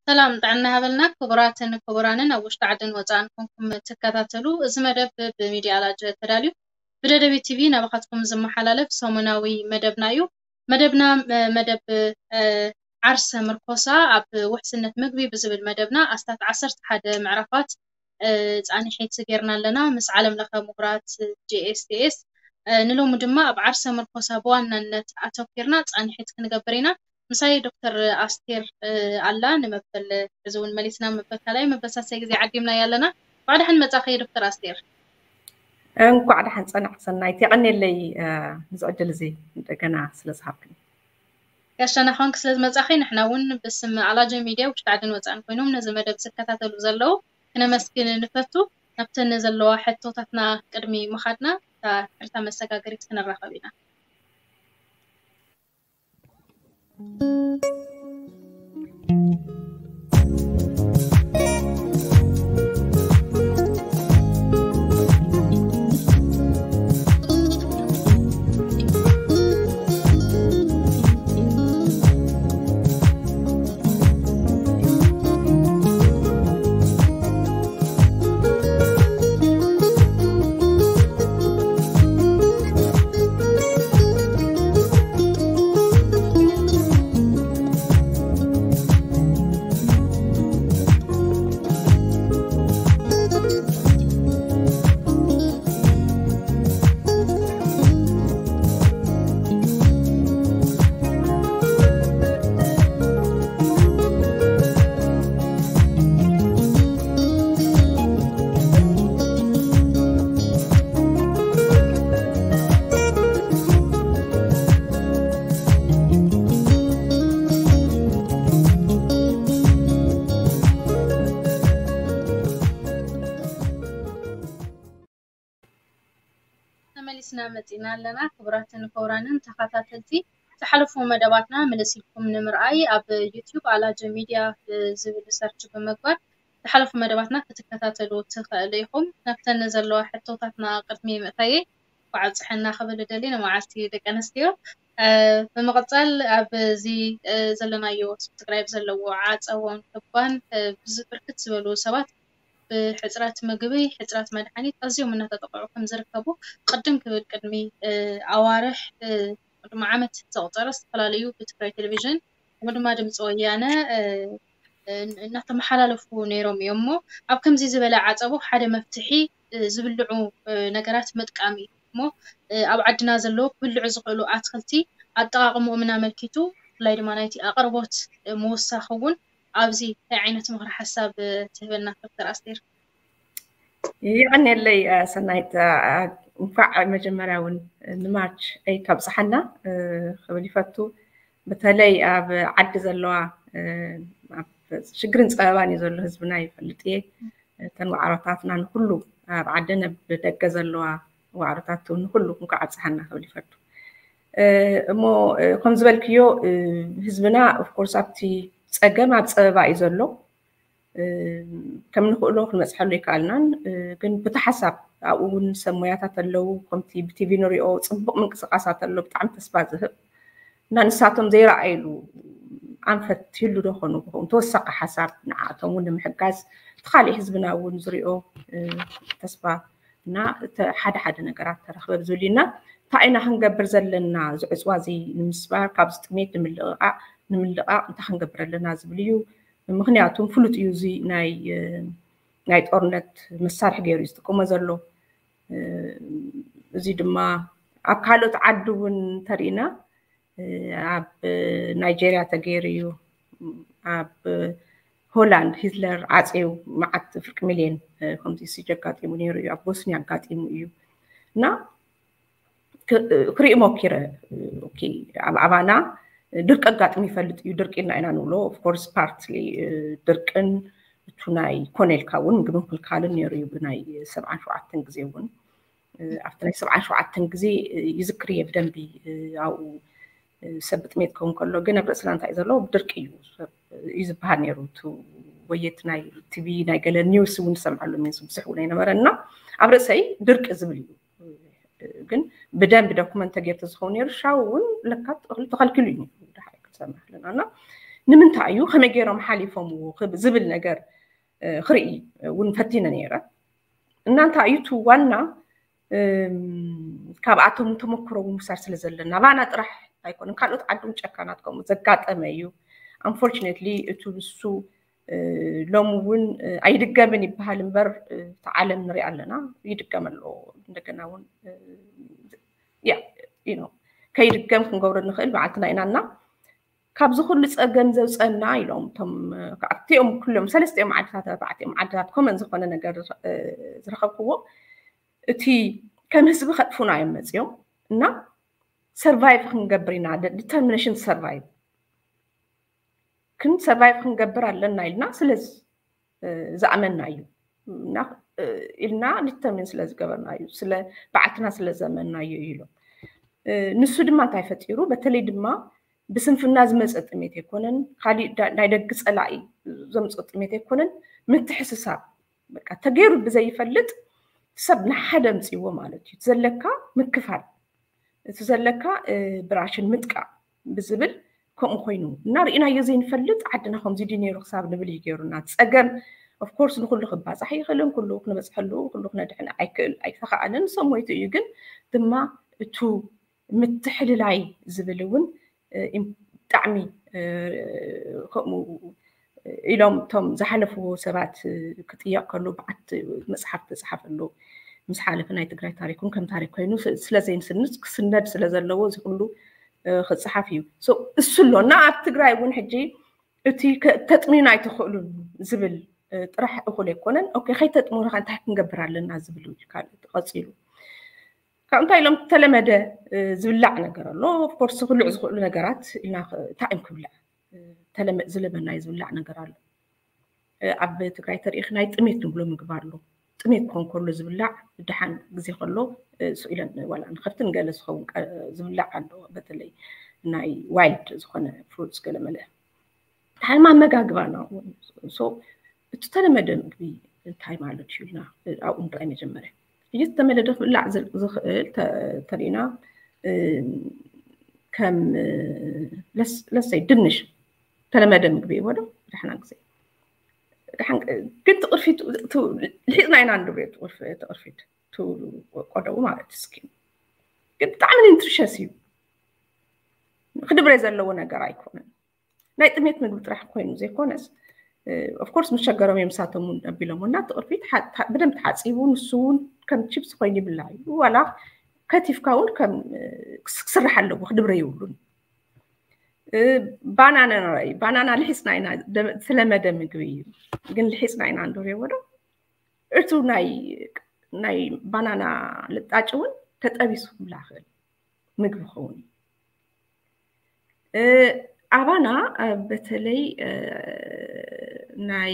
ሰላም ጥዕና ሃበልና ክቡራትን ክቡራንን ኣብ ውሽጢ ዓድን ወፃእን ኮንኩም ትከታተሉ፣ እዚ መደብ ብሚድያ ኣላጀ ተዳልዩ ብደደቢት ቲቪ ናባኻትኩም ዝመሓላለፍ ሰሙናዊ መደብና እዩ። መደብና መደብ ዓርሰ ምርኮሳ ኣብ ውሕስነት ምግቢ ብዝብል መደብና ኣስታት ዓሰርተ ሓደ ምዕራፋት ፃንሒት ጌርና ኣለና ምስ ዓለም ለኸ ምሁራት ጂኤስቲኤስ። ንሎሚ ድማ ኣብ ዓርሰ ምርኮሳ ብዋናነት ኣተኪርና ፃንሒት ክንገብር ኢና። ምሳይ ዶክተር ኣስቴር ኣላ ንመበል እዚ እውን መሊስና መበል ካልኣይ መበል ሳልሳይ ግዜ ዓዲምና ኣለና። ባዕዳሕን መፃኸ ዶክተር ኣስቴር። እንኳዕ ደሓን ፀናሕ ሰናይት፣ የቐኔለይ ንዚ ዕድል እዚ እንደገና ስለዝሃብክኒ። ጋሻና ኾንክ ስለዝመፃኺ ንሕና እውን ብስም ኣላጀ ሚድያ ውሽጢ ዓድን ወፃእን ኮይኖም ነዚ መደብ ዝከታተሉ ዘለዉ ክነመስግን ንፈቱ። ናብተን ዘለዋ ሕቶታትና ቅድሚ ምኻድና እታ ሕርታ መሰጋገሪት ክንራኸብ ኢና። ተመሊስና መፂና ኣለና። ክቡራትን ክቡራንን ተኸታተልቲ ዝሓለፉ መደባትና ምልስ ኢልኩም ንምርኣይ ኣብ ዩቲዩብ ኣላጀ ሚድያ ዝብል ሰርች ብምግባር ዝሓለፉ መደባትና ክትከታተሉ ትኽእሉ ኢኹም። ናብተን ዘለዋ ሕቶታትና ቅድሚ ምእታየ እንኳዕ ኣብፀሐና ክብል እደሊ ንመዓልቲ ደቂ ኣንስትዮ። ብምቕፃል ኣብዚ ዘለናዮ ስብስክራይብ ዘለዎ ዓፀቦን ክባን ብርክት ዝበሉ ሰባት ብሕፅረት ምግቢ፣ ሕፅረት መድሓኒት ኣዝዮም እናተጠቕዑ ከም ዝርከቡ ቅድም ክብል ቅድሚ ኣዋርሕ፣ ቅድሚ ዓመት ዘቑፀረ ዝተፈላለዩ ብትግራይ ቴሌቪዥን ከምኡ ድማ ድምፂ ወያነ እናተመሓላለፉ ነይሮም እዮም። እሞ ኣብ ከምዚ ዝበለ ዓፀቦ ሓደ መፍትሒ ዝብልዑ ነገራት ምጥቃም እዩ። እሞ ኣብ ዓድና ዘለዉ ክብልዑ ዝኽእሉ ኣትክልቲ ኣጠቓቕምኦምን ኣመልኪቱ ብፍላይ ድማ ናይቲ ኣቕርቦት ምውሳኽ እውን ኣብዚ እንታይ ዓይነት ምኽሪ ሓሳብ ትህበና ዶክተር ኣስቴር? የቐንየለይ ሰናይት፣ እንኳዕ መጀመርያ እውን ንማርች ኤይት ኣብፀሓና ክብል ይፈቱ። በተለይ ኣብ ዓዲ ዘለዋ ኣብ ሽግርን ፀበባን እዩ ዘሎ ህዝብና ይፈልጥ እየ። እተን ዋዕሮታትና ንኩሉ ኣብ ዓድን ኣብ ደገ ዘለዋ ዋዕሮታት እውን ንኩሉ እንኳዕ ኣብፀሓና ክብል ይፈቱ። እሞ ከም ዝበልክዮ ህዝብና ኦፍኮርስ ኣብቲ ፀገም ኣብ ፀበባ እዩ ዘሎ። ከም ንኽእሎ ክንበፅሐሉ ኣይከኣልናን። ግን ብቲ ሓሳብ ኣብኡ እውን ሰብ ሞያታት ኣለዉ። ከምቲ ብቲቪ ንሪኦ ፅቡቕ ምንቅስቃሳት ኣሎ፣ ብጣዕሚ ተስፋ ዝህብ እና ንሳቶም ዘይረኣይሉ ኣንፈት ይህሉ ዶ ኾኑ ክኸውን ተወሳኺ ሓሳብ ንዓቶም እውን ንምሕጋዝ እቲ ካሊእ ህዝብና እውን ዝሪኦ ተስፋ እና ሓደ ሓደ ነገራት ተረኽበ ዝብል እና እንታይ ኢና ክንገብር ዘለና እዚ ዕፅዋ እዚ ንምስባር ካብዚ ጥሜት ንምልቕቓቕ ንምልቓቕ እንታይ ክንገብር ኣለና ዝብል እዩ። ምክንያቱም ፍሉጥ እዩ እዚ ናይ ናይ ጦርነት መሳርሒ ገይሩ እዩ ዝጥቀሞ ዘሎ። እዚ ድማ ኣብ ካልኦት ዓዲ እውን እንተሪእና ኣብ ናይጄርያ ተገይሩ እዩ። ኣብ ሆላንድ ሂትለር ዓፅዩ መዓት ፍርቂ ሚልዮን ከምዚ ሲጅ ኣጋጢሙ ነይሩ እዩ። ኣብ ቦስኒ ኣጋጢሙ እዩ እና ክርኢ ሞኪረ ኣብ ኣባና ድርቂ ኣጋጥሙ ይፈልጥ እዩ። ድርቂ ኢልና ኢና ንብሎ ኦፍኮርስ ፓርትሊ ድርቅን እቱ ናይ ኮነ ኢልካ እውን ምግቢ ምክልካልን ነይሩ እዩ። ብናይ ሰብዓን ሸውዓተን ግዜ እውን ኣብቲ ናይ ሰብዓን ሸውዓተን ግዜ ይዝክር እየ ብደንቢ ኣብኡ ሰብ ብጥሜት ክኸውን ከሎ ግን ኣብ ርእስና እንታይ እዩ ዘሎ ድርቂ እዩ እዩ ዝበሃል ነይሩ። እቲ ወየት ናይ ቲቪ ናይ ገለ ኒውስ እውን ዝሰምዐሉ ሚንስ ብዙሕ እውን ኣይነበረና ኣብ ርእሰይ ድርቂ ዝብል እዩ። ግን ብደንቢ ዶኩመንት ተጌርተ ዝኸውን ነይሩ ሻው እውን ለካ እኽሊ ተኸልኪሉ እዩ ነይሩ። ድሓር ክንሰምዕ ኣለና እና ንምንታይ እዩ፣ ከመይ ገይሮም ሓሊፎምዎ ዝብል ነገር ክርኢ እውን ፈቲነ ነይረ። እና እንታይ እዩ እቲ ዋና ካብኣቶም ተመክሮ ምውሳድ ስለ ዘለና፣ ባና ጥራሕ ኣይኮነን፣ ካልኦት ዓዲ እውን ጨካናት ከምኡ ዘጋጠመ እዩ። Unfortunately እቱ ንሱ ሎሚ እውን ኣይድገምን ይበሃል እምበር እቲ ዓለም ንሪኣ ኣለና፣ ይድገም ኣሎ። እንደገና እውን ያ you know ከይድገም ክንገብሮ ንኽእል በዓልትና ኢና እና ካብዚ ኩሉ ፀገም ዘውፀና ኢሎም እቶም ኣብቲኦም ኩሎም ሰለስቲኦም ዓድታት ኣርባዕቲኦም ዓድታት ኮመን ዝኾነ ነገር ዝረኸብክዎ እቲ ከም ህዝቢ ከጥፉና እዮም መፅዮም እና survive ክንገብር ኢና determination survive ክን survive ክንገብር ኣለና ኢልና ስለ ዝኣመና እዩ ኢልና determine ስለ ዝገበርና እዩ ስለ በዓልትና ስለ ዘመና እዩ ኢሎም። ንሱ ድማ እንታይ ፈጢሩ በተለይ ድማ ብስንፍና ዝመፀ ጥሜት ኣይኮነን፣ ካሊእ ናይ ደጊ ፀላኢ ዘምፅኦ ጥሜት ኣይኮነን። ምትሕስሳብ በቃ ተገይሩ ብዘይፈልጥ ሰብ ንሓደ ኣምፅዎ ማለት እዩ። ዘለካ ምክፋል፣ እቲ ዘለካ ብራሽን ምጥቃም ብዝብል ከምኡ ኮይኑ እና ርኢናዮ ዘይንፈልጥ ዓድና ከምዚ ድዩ ነይሩ ክሳብ ንብል እዩ ገይሩና። ፀገም of course ንኩሉ ክባፃሕ ይኽእልን ኩሉ ክንበፅሐሉ ኩሉ ክነድሕን ኣይክእል ኣይተኸኣልን ሰብ ሞይቱ እዩ። ግን ድማ እቱ ምትሕልላይ ዝብል እውን ብጣዕሚ ከምኡ ኢሎም እቶም ዝሓለፍዎ ሰባት ክጥየቕ ከሎ በዓት መፅሓፍ ተፅሓፈሉ ምስ ሓለፈ ናይ ትግራይ ታሪክ እውን ከም ታሪክ ኮይኑ ስለ ዘይንስንድ ክስነድ ስለ ዘለዎ እዚ ኩሉ ክፅሓፍ እዩ። እሱ ኣሎ እና ኣብ ትግራይ እውን ሕጂ እቲ ተጥምዩና ኣይትኽእሉን ዝብል ጥራሕ እኹል ኣይኮነን። ኦኬ ከይተጥምዩና እንታይ ክንገብር ኣለና ዝብል እዩ ካልእ ቀፂሉ ካብ እንታይ ኢሎም ተለመደ ዝብላዕ ነገር ኣሎ። Of course ክብልዑ ዝኽእሉ ነገራት ኢልና እንታይ እዮም ክብላዕ ዝለመናይ ዝብላዕ ነገር ኣሎ። ኣብ ትግራይ ተሪኢኽ ናይ ጥሜት ንብሎ ምግቢ ኣሎ። ጥሜት ክኾን ከሎ ዝብላዕ ደሓን ግዜ ከሎ ስኢለን ዋላ ንኸፍትን ገለ ዝኸውን ዝብላዕ ኣሎ። በተለይ ናይ wild ዝኾነ fruits ገለ መለ ሓይማ ኣመጋግባና እውን so እቲ ተለመደ ምግቢ እንታይ ማለት እዩ ኢልና ኣብኡ ንርኣይ መጀመርያ። ሕጂ ዝተመለደ ክብላዕ ዝኽእል ተሪእና ከም ለሰይ ድንሽ ተለመደ ምግቢ ይዎ ዶ? ደሕና ግዜ ግን ትቕርፊት ልሒጥና ኢና ንድብሬ ትቕርፊት ቆደቡ ማለት እስኪ ግን ብጣዕሚ ንትርሸስ እዩ። ክድብሬ ዘለዎ ነገር ኣይኮነን። ናይ ጥሜት ምግቢ ጥራሕ ኮይኑ ዘይኮነስ of course ምስ ሸገሮም እዮም ምሳቶም እውን ኣቢሎም እና ትቕርፊት ብደንብ ተሓፂቡ ንሱ እውን ከም ቺፕስ ኮይኑ ይብላ እዩ። ዋላ ከቲፍካ እውን ከም ክስራሕ ኣለዎ ክድብረ ይብሉን። ባናና ንራይ ባናና ልሒፅና ኢና ዝተለመደ ምግቢ እዩ። ግን ልሒፅና ኢና ንድብሬ ወዶ እቱ ናይ ናይ ባናና ልጣጭ እውን ተጠቢሱ ክብላ ክእል ምግቢ ክኸውን እዩ። ኣባና በተለይ ናይ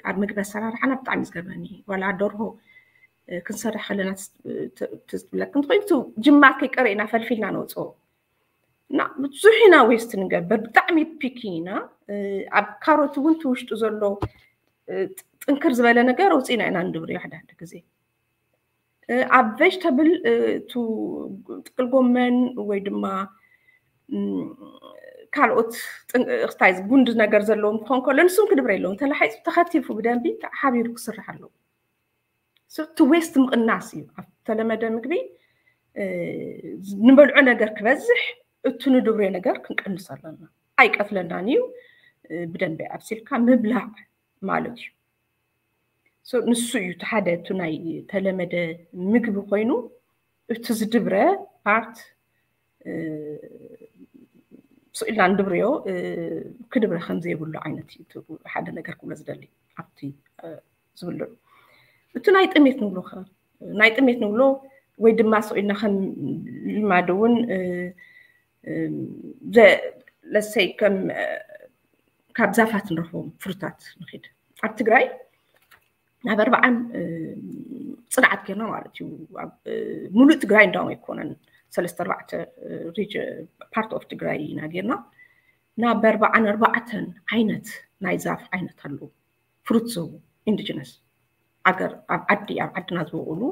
ኣብ ምግቢ ኣሰራርሓና ብጣዕሚ ዝገርመኒ ዋላ ደርሆ ክንሰርሕ ከለና ትዝብለክን ትኮይቱ ጅማር ከይቀረኢና ፈልፊልና ነውፅኦ እና ብዙሕ ኢና waste ንገብር ብጣዕሚ picky ኢና። ኣብ ካሮት እውን ትውሽጡ ዘሎ ጥንክር ዝበለ ነገር ኣውፅእና ኢና ንድብርዮ ሓደ ሓደ ግዜ ኣብ vegetable ጥቅል ጎመን ወይ ድማ ካልኦት ክስታይ ጉንዲ ነገር ዘለዎም ክኾን ከሎ ንሱም ክድብረ የለዎም ተላሒፁ ተኸቲፉ ብደንቢ ሓቢሩ ክስራሕ ኣለዎ። እቲ waste ምቕናስ እዩ ኣብ ተለመደ ምግቢ ንበልዖ ነገር ክበዝሕ እቱ ንድብርዮ ነገር ክንቀንስ ኣለና። ኣይቀትለናን እዩ። ብደንቢ ኣብሲልካ ምብላዕ ማለት እዩ። ንሱ እዩ እቲ ሓደ እቱ ናይ ተለመደ ምግቢ ኮይኑ እቲ ዝድብረ part ስኢልና ንድብርዮ ክድብረ ከምዘይብሉ ዓይነት ሓደ ነገር ክብሎ ዝደሊ ኣብቲ ዝብሉ እቲ ናይ ጥሜት ንብሎ ናይ ጥሜት ንብሎ ወይ ድማ ስኢልና ከም ልማድ እውን ለሰይ ከም ካብ ዛፋት ንረኽቦም ፍሩታት ንኽድ ኣብ ትግራይ ናብ ኣርባዓን ፅንዓት ጌርና ማለት እዩ። ሙሉእ ትግራይ እንዳውም ኣይኮነን ሰለስተ ኣርባዕተ part of ትግራይ ኢና ጌርና ናብ ኣርባዓን ኣርባዕተን ዓይነት ናይ ዛፍ ዓይነት ኣለዉ። ፍሩት ዝህቡ indigenous ኣገር ኣብ ዓዲ ኣብ ዓድና ዝበቕሉ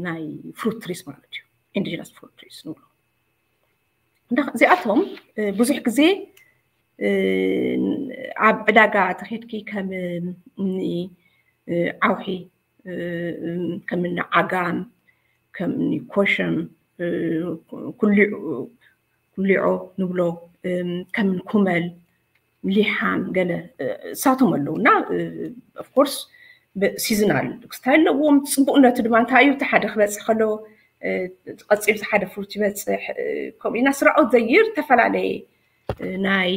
ናይ fruit trees ማለት እዩ። Indigenous fruit trees ንብሎ እዚኣቶም ብዙሕ ግዜ ኣብ ዕዳጋ ተኸድኪ ከም እኒ ዓውሒ፣ ከም እኒ ዓጋም፣ ከም እኒ ኮሸም፣ ኩሊዖ ንብሎ፣ ከም እኒ ኩመል፣ ሊሓም፣ ገለ እሳቶም ኣለዉ እና ኦፍኮርስ ሲዝናል ክስታይ ኣለዎም። ፅቡቅነቱ ድማ እንታይ እዩ? እቲ ሓደ ክበፅሕ ከሎ ቀፂሉ ሓደ ፍሩት ይበፅሕ። ከምኡ ኢና ስራኦት ዘይር ዝተፈላለየ ናይ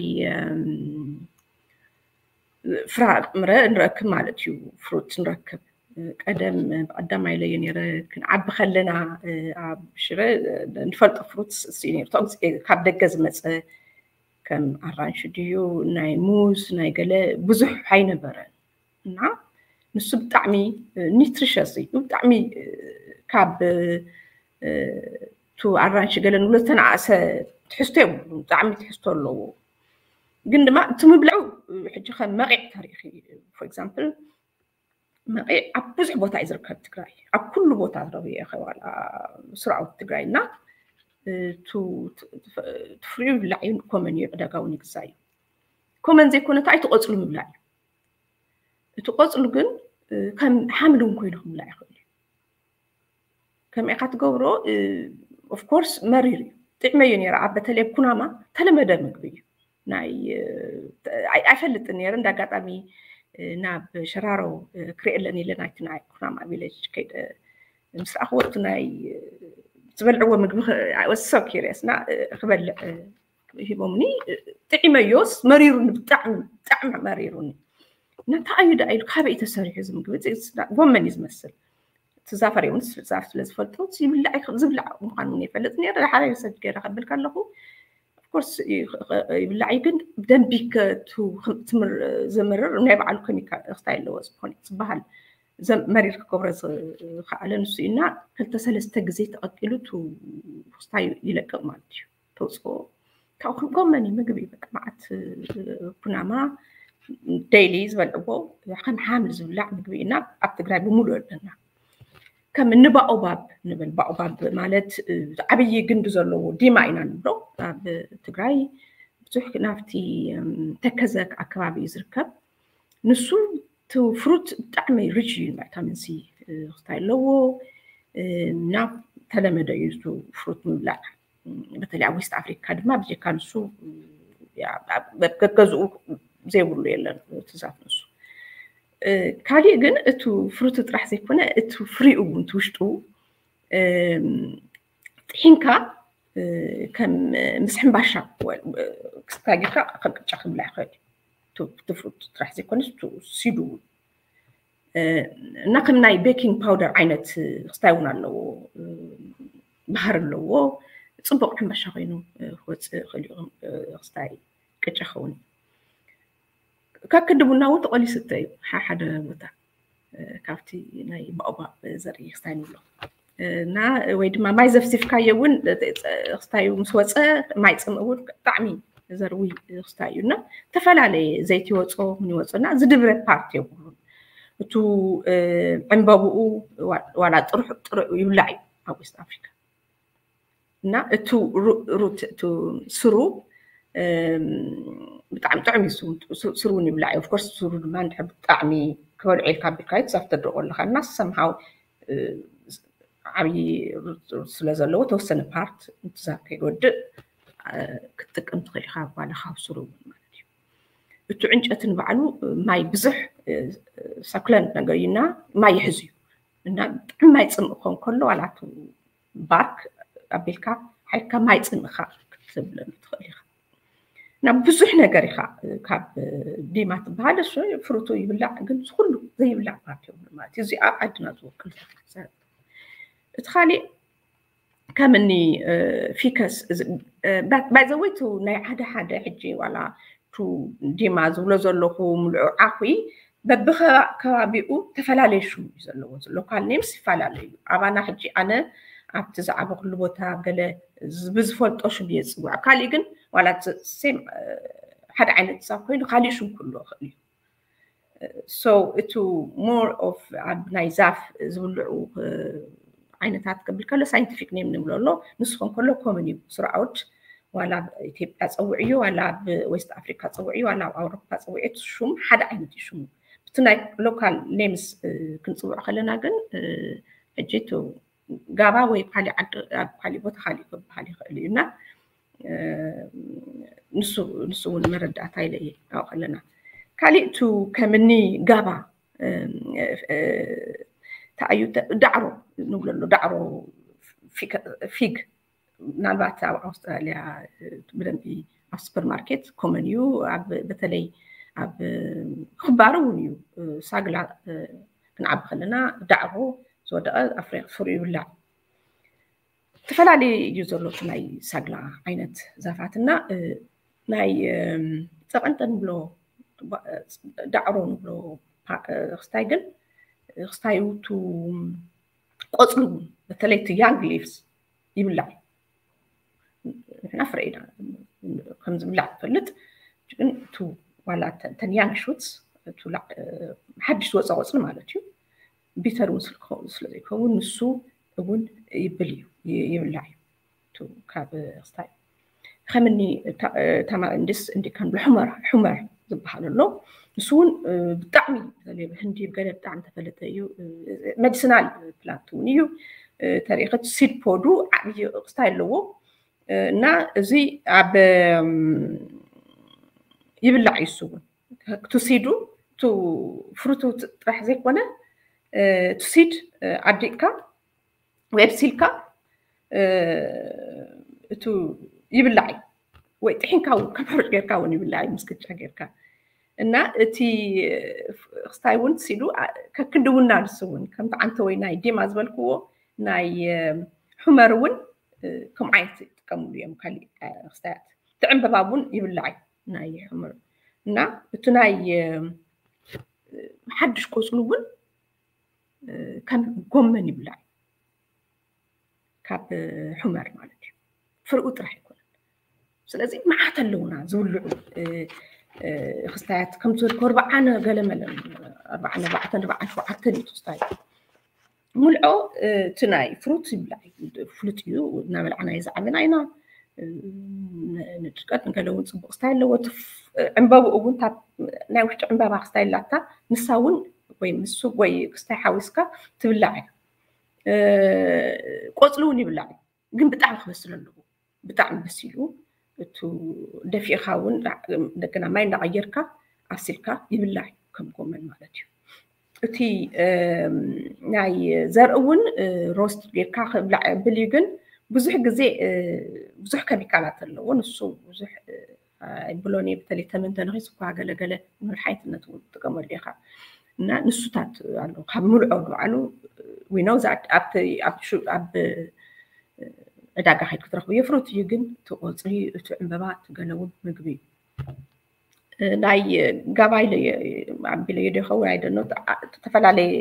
ፍራምረ ንረክብ ማለት እዩ። ፍሩት ንረክብ። ቀደም ብቀዳማይ ኢለዮ ነይረ፣ ክንዓቢ ከለና ኣብ ሽረ ንፈልጦ ፍሩት እሱ እዩ ነይሩ። ካብ ደገ ዝመፀ ከም ኣራንሽ ድዩ ናይ ሙዝ ናይ ገለ ብዙሕ ኣይነበረን እና ንሱ ብጣዕሚ ኒትሪሸስ እዩ። ብጣዕሚ ካብ ቱ ኣራንሽ ገለ ንብሎ ዝተናእሰ ትሕዝቶ የብሉ፣ ብጣዕሚ ትሕዝቶ ኣለዎ። ግን ድማ እቲ ምብላዑ ሕጂ ከም መቂዕ ተሪኺ for example መቂዕ ኣብ ብዙሕ ቦታ እዩ ዝርከብ ትግራይ፣ ኣብ ኩሉ ቦታ ረብየ ከዋላ ስራኦት ትግራይ እና ትፍሪኡ ይብላዕ እዩ። ኮመን እዩ፣ ዕዳጋ እውን ይግዛ እዩ። ኮመን ዘይኮነ እንታይ ትቆፅሉ ምብላዕ እዩ። እቲ ቆፅሉ ግን ከም ሓምሊ እውን ኮይኑ ክብላዕ ይኽእል እዩ። ከመይ ኢኻ ትገብሮ? ኦፍኮርስ መሪር እዩ። ጥዕመ እዩ ነይረ ኣብ በተለይ ኩናማ ተለመደ ምግቢ እዩ። ናይ ኣይፈልጥን ነይረ። እንደ ኣጋጣሚ ናብ ሸራሮ ክርእየለን ኢለ ናይቲ ናይ ኩናማ ቪሌጅ ከይደ ምስ ረኣኽዎ እቲ ናይ ዝበልዕዎ ምግቢ so curious እና ክበልዕ ሂቦምኒ። ጥዒመዮስ መሪሩኒ፣ ብጣዕሚ ብጣዕሚ መሪሩኒ። ነታ እዩ ደኣ ኢሉ ካበይ ተሰሪሑ እዚ ምግቢ? ጎመን እዩ ዝመስል። እቲ ዛፈር እውን ዛፍ ስለ ዝፈልጦ ዝብላዕ ዝብላዕ ምዃኑ እውን ይፈልጥ ነይረ። ሓደ ሰብ ገይረ ከብል ከለኹ ኦፍኮርስ ይብላዕ እዩ፣ ግን ብደንቢ ዘምርር ናይ ባዕሉ ከሚካል ክስታይ ኣለዎ ዝኾነ ዝበሃል መሪር ክገብሮ ዝኸኣለ ንሱ እዩ እና ክልተ ሰለስተ ግዜ ተቐቂሉ ክስታይ ይለቅቕ ማለት እዩ። ተውፅኦ ካብኡ ክንጎመኒ ምግቢ በቃ መዓት ኩናማ ዴይሊ ዝበልዕዎ ከም ሓምሊ ዝብላዕ ምግቢ ኢና ኣብ ትግራይ ብምሉእ ኣለና። ከም እኒ ባኦባብ ንብል። ባኦባብ ማለት ዓብዪ ግንዲ ዘለዎ ዲማ ኢና ንብሎ ኣብ ትግራይ። ብዙሕ ናብቲ ተከዘ ኣከባቢ እዩ ዝርከብ። ንሱ እቲ ፍሩት ብጣዕሚ ሪች እዩ ቫይታሚን ሲ ክስታይ ኣለዎ እና ተለመደ እዩ ፍሩት ምብላዕ። በተለይ ኣብ ዌስት ኣፍሪካ ድማ ብጀካ ንሱ ገገዝኡ ዘይብሉ የለን እቲ ዛፍ ንሱ። ካሊእ ግን እቲ ፍሩት ጥራሕ ዘይኮነ እቲ ፍሪኡ እውን እቲ ውሽጡ ጥሒንካ ከም ምስ ሕምባሻ ክስታይ ጌርካ ከም ቅጫ ክብላዕ ይኽእል እዩ። እቲ ፍሩት ጥራሕ ዘይኮነስ ሲዱ እውን እና ከም ናይ ቤኪንግ ፓውደር ዓይነት ክስታይ እውን ኣለዎ። ባህር ኣለዎ። ፅቡቅ ሕንባሻ ኮይኑ ክወፅእ ክእል ክስታይ ቅጫ ክኸውን እዩ። ካብ ክንዲ ቡና እውን ተቆሊሱ ዝስተ እዩ ሓደ ቦታ ካብቲ ናይ ባኦባብ ዘርኢ ክስታይ ንብሎ እና ወይ ድማ ማይ ዘፍሲፍካዮ እውን ክስታዩ ምስ ወፀ ማይ ፅምእ እውን ብጣዕሚ ዘርዊ ክስታይ እዩ እና ዝተፈላለየ ዘይቲ ይወፆ ምን ይወፆ እና ዝድብረ ፓርት የብሉን። እቱ ዕንበብኡ ዋላ ጥሩሕ ጥሩዕ ይብላዕ እዩ ኣብ ዌስት ኣፍሪካ እና እቱ ሩት እቱ ስሩ ብጣዕሚ ጥዑም እዩ። ስሩ እውን ይብላዕ እዩ። ኦፍኮርስ ስሩ ድማ እንድሕር ብጣዕሚ ክበልዑ ኢልካ ቢልካ እዩ ትዛፍ ተድርቆ ኣለካ እና ሰምሃው ዓብዪ ስለ ዘለዎ ተወሰነ ፓርት እንትዛብ ከይወድእ ክትጥቀም ትኽእል ኢኻ። ጓላ ካብ ስሩ እውን ማለት እዩ። እቱ ዕንጨቲ ንባዕሉ ማይ ብዙሕ ሰኩለንት ነገር እዩና ማይ ይሕዝ እዩ እና ብጣዕሚ ማይ ፅምእ ክኾን ከሎ ዋላ እቱ ባርክ ኣቢልካ ሓይልካ ማይ ፅምእካ ክትብለሉ ትኽእል ኢኻ። ናብ ብዙሕ ነገር ኢኻ ካብ ዲማ ትበሃል እሱ ፍሩቱ ይብላዕ ግን ዝኩሉ ዘይብላዕ ፓርቲ ማለት እዩ። እዚኣ ዓድና ዝወክል እቲ ካሊእ ከም እኒ ፊከስ ባይዘወይቱ ናይ ሓደ ሓደ ሕጂ ዋላ ቱ ዲማ ዝብሎ ዘለኹ ምልዑ ዓኹ በብከባቢኡ ተፈላለየ ሽሙ እዩ ዘለዎ። ሎካል ኔምስ ይፈላለዩ። ኣባና ሕጂ ኣነ ኣብቲ ዝዓበኹሉ ቦታ ገለ ብዝፈልጦ ሽም እየ ዝፅውዖ። ካሊእ ግን ዋላ ሴም ሓደ ዓይነት ዛፍ ኮይኑ ካሊእ ሽም ክህልዎ ይኽእል እዩ። So እቱ more of ኣብ ናይ ዛፍ ዝብልዑ ዓይነታት ክብል ከሎ ሳይንቲፊክ ኔም ንብሎ ኣሎ። ንስኹም ከሎ ኮመን እዩ ስርዓውድ ዋላ ኣብ ኢትዮጵያ ፀውዕዮ ዋላ ኣብ ዌስት ኣፍሪካ ፀውዕዮ ዋላ ኣብ ኣውሮፓ ፀውዕዮ እቲ ሹም ሓደ ዓይነት እዩ ሽሙ። ብቲ ናይ ሎካል ኔምስ ክንፅውዖ ከለና ግን ሕጂ እቲ ጋባ ወይ ካሊእ ዓዲ ኣብ ካሊእ ቦታ ካሊእ ክበሃል ይኽእል እዩ እና ንሱ ንሱ እውን መረዳእታ ኢለ እየ ኣብኡ ከለና ካሊእ ቱ ከምኒ ጋባ እንታይ እዩ ዳዕሮ ንብለሉ ዳዕሮ ፊግ ምናልባት ኣብ ኣውስትራልያ ብደንቢ ኣብ ሱፐርማርኬት ኮመን እዩ። በተለይ ኣብ ክባር እውን እዩ። ሳግላ ክንዓቢ ከለና ዳዕሮ ዝወደቐ ኣፍሪ ፍሩ ይብላዕ። ዝተፈላለዩ እዩ ዘሎ ናይ ሳግላ ዓይነት ዛፋት እና ናይ ፀቐንጠ ንብሎ ዳዕሮ ንብሎ ክስታይ ግን ክስታዩ ቱ ቆፅሉ እውን በተለይ ቱ ያንግ ሊቭስ ይብላዕ። ንሕና ፍረ ኢና ከም ዝብላዕ ንፈልጥ ግን ቱ ዋላ ተን ያንግ ሹትስ ሓድሽ ዝወፀ ቆፅሊ ማለት እዩ። ቢተር እውን ስለዘይከውን ንሱ እውን ይብል እዩ ይብላዕ እዩ ካብ ክስታይ ከምኒ ታማሪንድስ እንዲካን ብሕመር ሕመር ዝበሃል ኣሎ። ንሱ እውን ብጣዕሚ ህንዲ ገለ ብጣዕሚ ተፈለጠ እዩ። ሜዲሲናል ፕላንት እውን እዩ። ተሪኸት ሲድ ፖዱ ዓብዪ ክስታይ ኣለዎ እና እዚ ኣብ ይብላዕ እዩ። እሱ እውን ቱ ሲዱ ቱ ፍሩቱ ጥራሕ ዘይኮነ ቱ ሲድ ኣዲቕካ ወይ ኣብሲልካ እቱ ይብላዕ እዩ። ወይ ጥሒንካ እውን ከም ሕሩጭ ጌርካ እውን ይብላዕ እዩ ምስ ቅጫ ጌርካ እና እቲ ክስታይ እውን ሲሉ ከክንዲ እውን ናልሱ እውን ከምቲ ዓንተ ወይ ናይ ዲማ ዝበልክዎ ናይ ሑመር እውን ከም ዓይነት ይጥቀምሉ እዮም። ካሊእ ክስታያት እቲ ዕንበባ እውን ይብላዕ እዩ ናይ ሑመር እና እቲ ናይ ሓድሽ ቆፅሉ እውን ከም ጎመን ይብላዕ ካብ ሑመር ማለት እዩ። ፍርኡ ጥራሕ ኣይኮነን። ስለዚ መዓት ኣለውና ዝብልዑ ክስታያት ከም ዝበልኩ ኣርባዓን ገለመለን ኣርባዓን ኣርባዕተን ኣርባዓን ሸውዓተን እዩ ክስታይ። ሙልዖ እቲ ናይ ፍሩት ይብላዕ ፍሉጥ እዩ። እናበላዕና ዝዓበና ኢና። ንድርቀት ንገለ እውን ፅቡቅ ክስታይ ኣለዎ። ዕንበብኡ እውን ናይ ውሽጢ ዕንበባ ክስታይ ኣላታ ንሳ እውን ወይ ምስ ወይ ክስታይ ሓዊስካ ትብላዕ እያ። ቆፅሊ እውን ይብላዕ ግን ብጣዕሚ ክበስል ኣለዎ። ብጣዕሚ በሲሉ እቱ ደፊእኻ እውን እንደገና ማይ እንዳቐየርካ ኣብሲልካ ይብላዕ እዩ ከም ጎመን ማለት እዩ። እቲ ናይ ዘርኢ እውን ሮስት ጌርካ ክብላዕ ብል እዩ ግን ብዙሕ ግዜ ብዙሕ ከሚካላት ኣለዎ። ንሱ ብዙሕ ኣይብሎን እየ። በተለይ ተመን ተነኺሱ እኳ ገለገለ ንመድሓኒትነት እውን ትጥቀመሉ ኢኻ እና ንሱታት ኣሎ ካብ ምልዖ ንባዕሉ ዊነው ኣብ ዕዳጋ ከይድ ክትረኽቡ የፍሩት እዩ ግን እቲ ቆፅሊ እቲ ዕንበባ እቲ ገለ እውን ምግቢ እዩ። ናይ ጋባ ኢለ ኣቢለ ዶ ይኸውን ኣይደኖ ዝተፈላለየ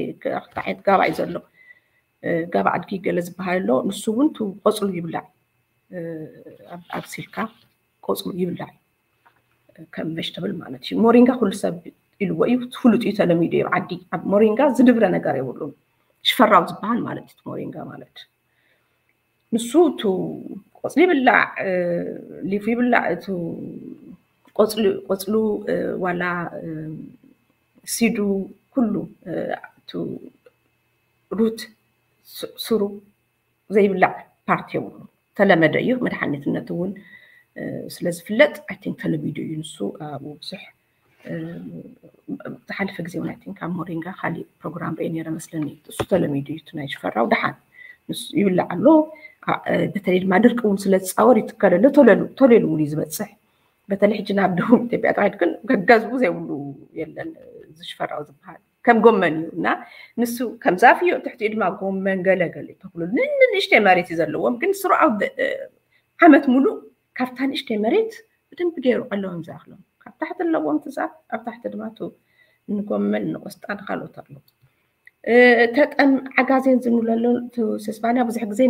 ዓይነት ጋባ እዩ ዘሎ። ጋባ ኣድጊ ገለ ዝበሃል ኣሎ። ንሱ እውን እቲ ቆፅሉ ይብላዕ ኣብሲልካ ቆፅሉ ይብላዕ ከም ቨጅተብል ማለት እዩ። ሞሪንጋ ኩሉ ሰብ ኢልዎ እዩ ፍሉጥ እዩ ተለሚዱ እዩ ዓዲ ኣብ ሞሪንጋ ዝድብረ ነገር የብሉን። ሽፈራው ዝበሃል ማለት እዩ ሞሪንጋ ማለት ንሱ እቲ ቆፅሊ ይብላዕ ሊፉ ይብላዕ እቲ ቆፅሉ ዋላ ሲዱ ኩሉ እቲ ሩት ስሩ ዘይብላዕ ፓርቲ የብሉ ተለመደ እዩ። መድሓኒትነት እውን ስለዝፍለጥ ኣይ ቲንክ ተለሚዱ እዩ ንሱ ኣብኡ ብዙሕ ዝሓለፈ ግዜ እውን ኣይ ቲንክ ኣብ ሞሪንጋ ካሊእ ፕሮግራም ርኤ ነይረ መስለኒ። እሱ ተለሚዱ እዩ ናይ ሽፈራው ደሓን ንሱ ይብላዕ ኣሎ። በተለይ ድማ ድርቂ እውን ስለ ዝፃወር ይትከለሉ ተለሉ ተለሉ እውን እዩ ዝበፅሕ። በተለይ ሕጂ ናብ ደቡብ ኢትዮጵያ ጥራይ ግን ገገዝኡ ዘይብሉ የለን። ዝሽፈራው ዝበሃል ከም ጎመን እዩ እና ንሱ ከም ዛፍ እዩ ትሕቲኡ ድማ ጎመን ገለገለ ተክሉ ንንእሽተይ መሬት እዩ ዘለዎም ግን ስሩዓው ዓመት ሙሉእ ካብታ ንእሽተይ መሬት ብደንብ ገይሩ ኣለዎም ዝኣኽሎም ካብ ታሕቲ ኣለዎም ትዛፍ ኣብ ታሕቲ ድማ ንጎመን ንቆስጣ ንካልኦት ኣለዉ። ተጠን ዓጋዜን ዝንብለሉ ስስባንያ ብዙሕ ግዜ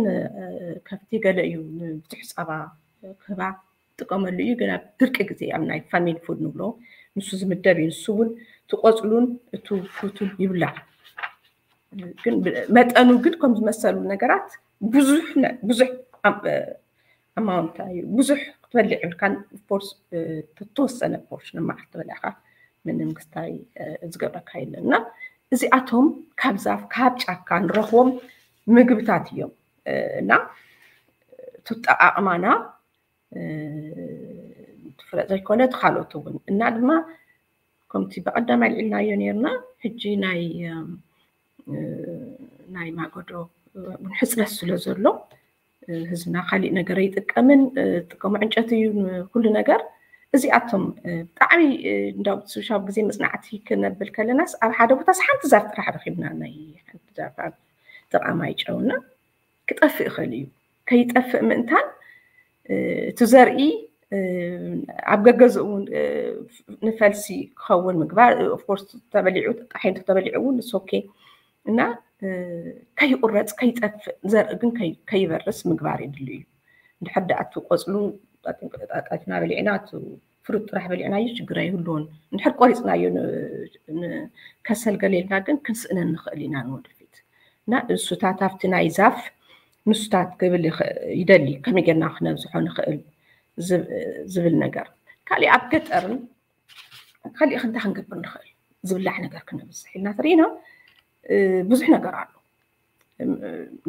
ከፍቲ ገለ እዩ ብዙሕ ፀባ ክህባ ጥቀመሉ እዩ ግን ኣብ ድርቂ ግዜ ኣብ ናይ ፋሚሊ ፉድ ንብሎ ንሱ ዝምደብ እዩ። ንሱ እውን ትቆፅሉን እቱ ፍሩቱን ይብላዕ ግን መጠኑ ግን ከም ዝመሰሉ ነገራት ብዙሕ ብዙሕ ኣማውንት እዩ ብዙሕ ትበልዕ ይብልካን ኦፍኮርስ ተወሰነ ፖርሽን መዓልቲ ትበልዕካ ምንም ክስታይ ዝገብረካ የለን እና እዚኣቶም ካብ ዛፍ ካብ ጫካ ንረኽቦም ምግብታት እዮም እና ትጠቃቅማና ትፍለጥ ዘይኮነ ትካልኦት እውን እና ድማ ከምቲ ብቀዳማይ ልዕልናዮ ነርና ሕጂ ናይ ናይ ማገዶ እውን ሕፅረት ስለ ዘሎ ህዝብና ካሊእ ነገር ኣይጥቀምን ጥቀሙ ዕንጨት እዩ ኩሉ ነገር እዚኣቶም ብጣዕሚ እንዳው ሶሻል ግዜ መፅናዕቲ ክነብል ከለናስ ኣብ ሓደ ቦታስ ሓንቲ ዛፍ ጥራሕ ረኪብና ናይ ሓንቲ ዛፍ ኣብ ጥቃማይ ጨውና ክጠፍእ ይኽእል እዩ ከይጠፍእ ምእንታን እቲ ዘርኢ ኣብ ገገዝኡ እውን ንፈልሲ ክኸውን ምግባር ኦፍኮርስ ተበሊዑ ጣሒንቶ ተበሊዑ እውን ሶኬ እና ከይቁረፅ ከይጠፍእ ዘርኢ ግን ከይበርስ ምግባር የድሊ እዩ እንድሕር ደኣ እቲ ቆፅሉ ጣጢና በሊዕና እቲ ፍሩት ጥራሕ በሊዕናዮ ችግር ኣይህልዎን እንድሕር ቆሪፅናዮ ከሰል ገሌልና ግን ክንስእነን ንኽእል ኢና ንወደፊት እና እሱታት ኣብቲ ናይ ዛፍ ንሱታት ክብል ይደሊ ከመይ ጌርና ክነብዝሖ ንኽእል ዝብል ነገር ካሊእ ኣብ ገጠርን ካሊእ ክንታ ክንገብር ንኽእል ዝብላዕ ነገር ክነብዝሕ ኢልና ትርኢና ብዙሕ ነገር ኣሎ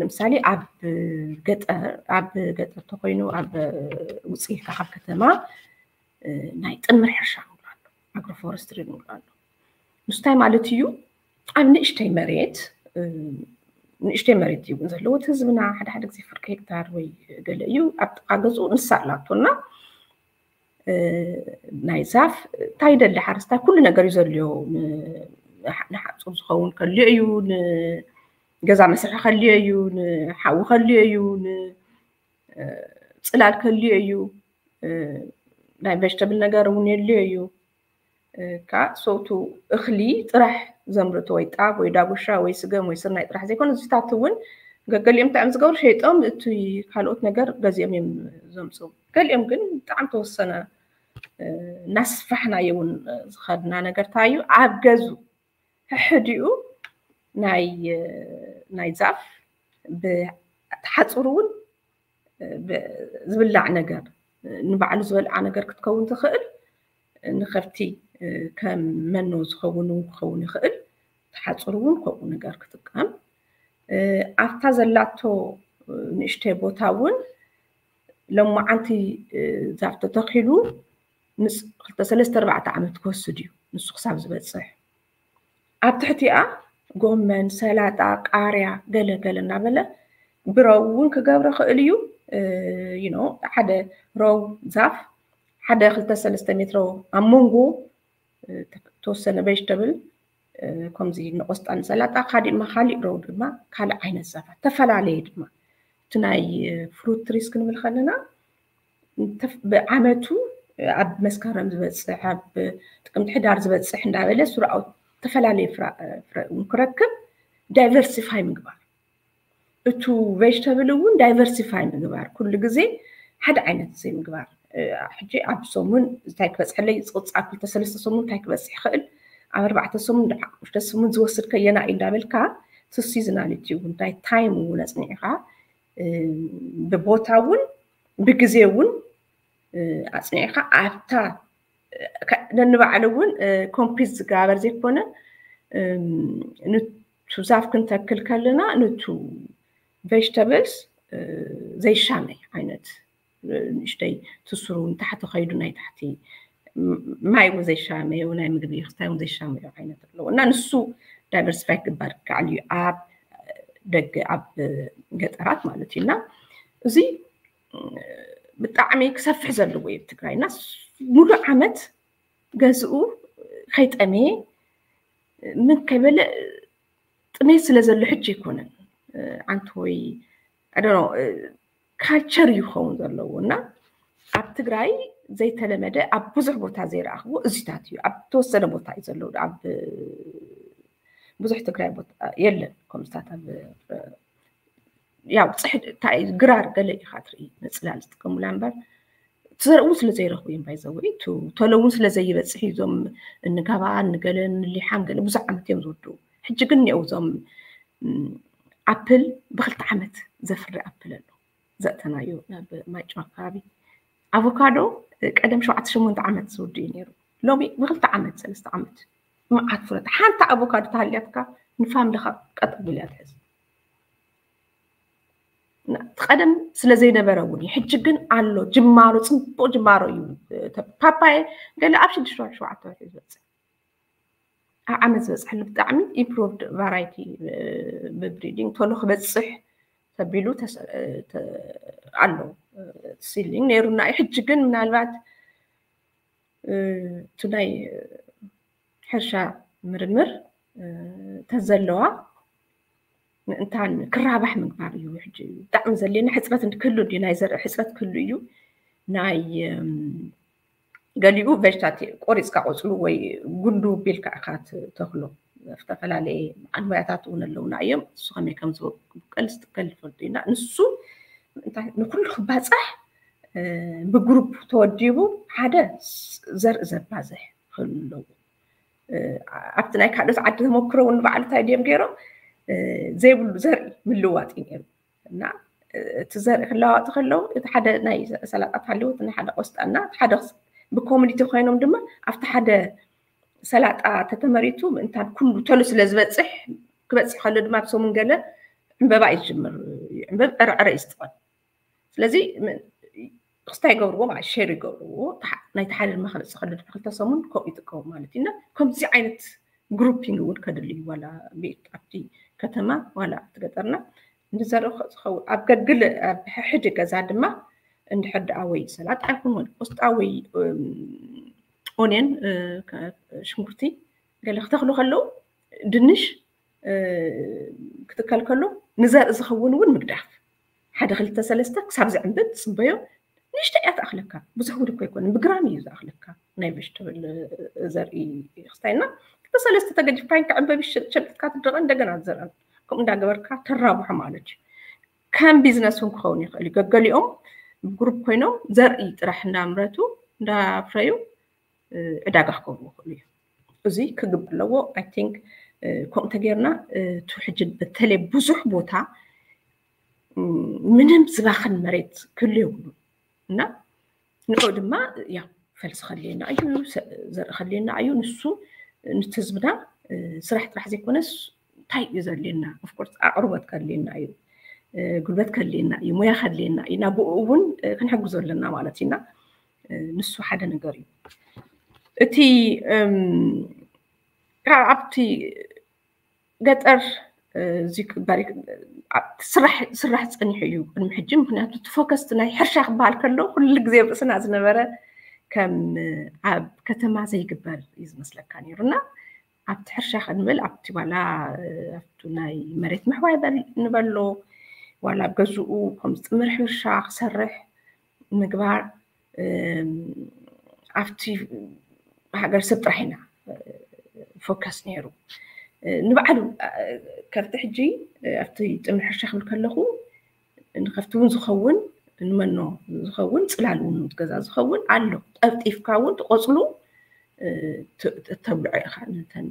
ንምሳሌ ኣብ ገጠር ኣብ ገጠር ተኮይኑ ኣብ ውፅኢልካ ካብ ከተማ ናይ ጥምር ሕርሻ ንብሎ ኣሎ ኣግሮፎረስትሪ ንብሎ ኣሎ ምስታይ ማለት እዩ ኣብ ንእሽተይ መሬት ንእሽተይ መሬት እዩ እውን ዘለዎ እቲ ህዝብና ሓደ ሓደ ግዜ ፍርቂ ሄክታር ወይ ገለ እዩ ኣብ ጥቃ ገዝኡ ንሳ ኣላቶና ናይ ዛፍ እንታይ ይደሊ ሓረስታይ ኩሉ ነገር እዩ ዘልዮ ንሓፁር ዝኸውን ከልዮ እዩ ንገዛ መስርሒ ከልዮ እዩ ንሓዊ ከልዮ እዩ ንፅላል ከልዮ እዩ ናይ ቨጅተብል ነገር እውን የልዮ እዩ ከዓ ሰውቱ እኽሊ ጥራሕ ዘምርቶ ወይ ጣብ ወይ ዳጉሻ ወይ ስገም ወይ ስርናይ ጥራሕ ዘይኮነ እዚታት እውን ገገሊኦም ብጣዕሚ ዝገብሩ ሸይጦም እቲ ካልኦት ነገር ገዚኦም እዮም ዘምፅኡ ገሊኦም ግን ብጣዕሚ ተወሰነ እናስፋሕናዮ እውን ዝኸድና ነገር ታዩ ኣብ ገዙ ሕሕዲኡ ናይ ናይ ዛፍ ብተሓፅሩ እውን ዝብላዕ ነገር ንባዕሉ ዝበልዓ ነገር ክትከውን ትኽእል ንኸብቲ ከም መኖ ዝኸውን እውን ክኸውን ይኽእል ተሓፅሩ እውን ከምኡ ነገር ክጥቀም ኣብታ ዘላቶ ንእሽተይ ቦታ እውን ሎማዓንቲ ዛፍ ተተኺሉ ምስ ክልተ ሰለስተ ኣርባዕተ ዓመት ክወስድ እዩ ንሱ ክሳብ ዝበፅሕ ኣብ ትሕቲኣ ጎመን ሰላጣ ቃርያ ገለ ገለ እናበለ ብረው እውን ክገብረ ክእል እዩ ሓደ ረው ዛፍ ሓደ ክልተ ሰለስተ ሜትሮ ኣብ መንጎ ተወሰነ ቬጅተብል ከምዚ ንቆስጣ ንሰላጣ ካሊእ ማ ካሊእ ረው ድማ ካልእ ዓይነት ዛፋት ተፈላለየ ድማ እቲ ናይ ፍሩት ትሪስ ክንብል ከለና ብዓመቱ ኣብ መስከረም ዝበፅሕ ኣብ ጥቅምቲ ሕዳር ዝበፅሕ እንዳበለ ስራኡ ተፈላለየ ፍረ ክረክብ ዳይቨርሲፋይ ምግባር እቱ ቬጅተብል እውን ዳይቨርሲፋይ ምግባር ኩሉ ግዜ ሓደ ዓይነት ዘይምግባር ሕጂ ኣብ ሰሙን እንታይ ክበፅሐለይ ዝቕፃ ክልተ ሰለስተ ሰሙን እንታይ ክበፅሕ ይኽእል ኣብ ኣርባዕተ ሰሙን ሽተ ሰሙን ዝወስድ ከየና እዩ እንዳበልካ እቲ ሲዝናሊቲ እውን እንታይ ታይም እውን ኣፅኒዕካ ብቦታ እውን ብግዜ እውን ኣፅኒዕካ ኣብታ ነንባዕሉ እውን ኮምፒት ዝጋበር ዘይኮነ ንቱ ዛፍ ክንተክል ከለና ንቱ ቬጅተብልስ ዘይሻመይ ዓይነት ንእሽተይ ትስሩ ንታሕቲ ከይዱ ናይ ታሕቲ ማይ እውን ዘይሻመዮ ናይ ምግቢ ክስታይ እውን ዘይሻመዮ ዓይነት ኣለዎ እና ንሱ ዳይቨርሲፋይ ክግበር ከዓል እዩ ኣብ ደገ ኣብ ገጠራት ማለት እዩ እና እዚ ብጣዕሚ ክሰፍሕ ዘለዎ እዩ ትግራይ እና ሙሉእ ዓመት ገዝኡ ከይጠመየ ምን ከይበለ ጥሜት ስለ ዘሎ ሕጂ ኣይኮነን ኣንቲ ወይ ካልቸር እዩ ክኸውን ዘለዎ እና ኣብ ትግራይ ዘይተለመደ ኣብ ብዙሕ ቦታ ዘይረኣኽዎ እዚታት እዩ ኣብ ተወሰነ ቦታ እዩ ዘለዎ ኣብ ብዙሕ ትግራይ የለን ከምስታት ኣብ ያው ፅሕድ እንታይ ግራር ገለ ኢኻ ትርኢ ንፅላል ዝጥቀሙላ እምበር ትዘርእውን ስለ ዘይረኽቡ እዮም ባይዘወይ ተለውን ስለ ዘይበፅሕ እዞም እንጋባ ንገለ ንሊሓም ገለ ብዙሕ ዓመት እዮም ዝወዱ ሕጂ ግን እኒአው እዞም ኣፕል ብክልተ ዓመት ዘፍሪ ኣፕል ኣሎ ዘእተናዮ ናብ ማይጨው ኣካባቢ ኣቮካዶ ቀደም ሸውዓተ ሸሞንተ ዓመት ዝውድእ እዩ ነይሩ። ሎሚ ብክልተ ዓመት ሰለስተ ዓመት መዓት ፍረታት። ሓንቲ ኣቮካዶ ተሃልያትካ ንፋምልኻ ቀጥ ቢላ ትሕዝ። ቀደም ስለ ዘይነበረ እውን እዩ። ሕጂ ግን ኣሎ ጅማሮ፣ ፅቡቅ ጅማሮ እዩ። ፓፓየ ገለ ኣብ ሽዱሽተ ወርሒ ሸውዓተ ወርሒ ዝበፅሕ ኣብ ዓመት ዝበፅሐሉ ብጣዕሚ ኢምፕሩቭድ ቫራይቲ ብብሪዲንግ ቶሎ ክበፅሕ ተቢሉ ኣሎ። ሲሊንግ ነይሩና እዩ። ሕጂ ግን ምናልባት እቲ ናይ ሕርሻ ምርምር ተዘለዋ ምእንታን ክራባሕ ምግባር እዩ። ሕጂ ብጣዕሚ ዘድልየና ሕፅረት ክህሉ እዩ፣ ናይ ዘርኢ ሕፅረት ክህሉ እዩ። ናይ ገሊኡ ቨጅታት ቆሪፅካ ቆፅሉ ወይ ጉንዱ ቢልካ ኢካ ተክሎ። ዝተፈላለየ ዓድሞያታት እውን ኣለውና እዮም። እሱ ከመይ ከም ዝበቀል ዝትከል ይፈልጡ ኢና። ንሱ ንኩሉ ክባፃሕ ብግሩፕ ተወዲቡ ሓደ ዘርኢ ዘባዝሕ ክህሉ ኣለዎ። ኣብቲ ናይ ካልኦት ዓዲ ተመክሮ እውን ንባዕሉ እንታይ ድዮም ገይሮም ዘይብሉ ዘርኢ ምልዋጥ እዩ ነይሩ። እና እቲ ዘርኢ ክለዋወጡ ከለዉ እቲ ሓደ ናይ ሰላጣ ተሃልዎ እቲ ናይ ሓደ ቆስጣ እና እቲ ሓደ ብኮሚኒቲ ኮይኖም ድማ ኣብቲ ሓደ ሰላጣ ተተመሪቱ ምእንታን ኩሉ ተሉ ስለ ዝበፅሕ ክበፅሕ ከሎ ድማ ኣብ ሰሙን ገለ ዕምበባ እዩ ዝጅምር። ዕምበብ ዕረዕረ እዩ ዝጥቐም። ስለዚ ክስታይ ይገብርዎ ማለት ሸር ይገብርዎ። ናይቲ ሓደ ድማ ክበፅሕ ከሎ ድማ ክልተ ሰሙን ከምኡ ይጥቀሙ ማለት እዩ። እና ከምዚ ዓይነት ግሩፒንግ እውን ከድሊ እዩ ዋላ ቤት ኣብቲ ከተማ ዋላ ኣብቲ ገጠርና እንድዘርኢ ዝኸውን ኣብ ገግል ኣብ ሕሕድ ገዛ ድማ እንድሕር ደኣ ወይ ሰላጣ ይኹን ወይ ቆስጣ ወይ ኦንየን ሽንኩርቲ ገለ ክተኽሉ ከለዉ ድንሽ ክትከል ከሎ ንዘርኢ ዝኸውን እውን ምግዳፍ ሓደ ክልተ ሰለስተ ክሳብ ዝዕንብብ ትፅበዮ። ንእሽተ እያ ትኣኽለካ፣ ብዙሕ እውን እኮ ኣይኮነን፣ ብግራም እዩ ዝኣኽለካ ናይ ቨጅተብል ዘርኢ ክስታይና ክልተ ሰለስተ ተገዲፍካ ክዕንበብ ሸምጥካ ትድረቐ እንደገና ትዘርአን ከምኡ እንዳገበርካ ተራብሖ ማለት እዩ። ከም ቢዝነስ እውን ክኸውን ይኽእል እዩ። ገገሊኦም ብግሩፕ ኮይኖም ዘርኢ ጥራሕ እንዳምረቱ እንዳፍረዩ ዕዳጋ ክገብሩ ይኽእሉ እዩ። እዚ ክግበር ኣለዎ። ኣይ ቲንክ ከምኡ ተገይርና እቲ ሕጂ በተለይ ብዙሕ ቦታ ምንም ዝባኽን መሬት ክህሉ የብሉ እና ንኡ ድማ ያ ፈልሲ ከድልየና እዩ፣ ዘርኢ ከድልየና እዩ። ንሱ ንቲ ህዝብና ስራሕ ጥራሕ ዘይኮነስ እንታይ እዩ ዘድልየና? ኦፍኮርስ ኣቕርቦት ከድልየና እዩ፣ ጉልበት ከድልየና እዩ፣ ሙያ ከድልየና እዩ። እና ብኡ እውን ክንሕግዞ ኣለና ማለት ኢና። ንሱ ሓደ ነገር እዩ። እቲ ኣብቲ ገጠር እዚ ክባሪ ስራሕ ስራሕ ጸኒሑ እዩ ቅድሚ ሕጂ። ምክንያቱ እቲ ፎከስ ናይ ሕርሻ ክበሃል ከሎ ኩሉ ግዜ ርእስና ዝነበረ ከም ኣብ ከተማ ዘይግበር እዩ ዝመስለካ ነይሩ እና ኣብቲ ሕርሻ ክንብል ኣብቲ ዋላ ኣብቲ ናይ መሬት ምሕዋይ ንበሎ ዋላ ኣብ ገዝኡ ከም ዝጥምር ሕርሻ ክሰርሕ ምግባር ኣብቲ ሃገር ሰብ ጥራሕ ኢና ፎከስ ነይሩ። ንባዕሉ ከብቲ ሕጂ ኣብቲ ጥምር ሕርሻ ክብል ከለኹ ንከብቲ እውን ዝኸውን ንመኖ ዝኸውን ፅላል እውን ገዛ ዝኸውን ኣሎ። ጠፍጢፍካ እውን ትቆፅሉ ተብልዖ ኢኻ ነተን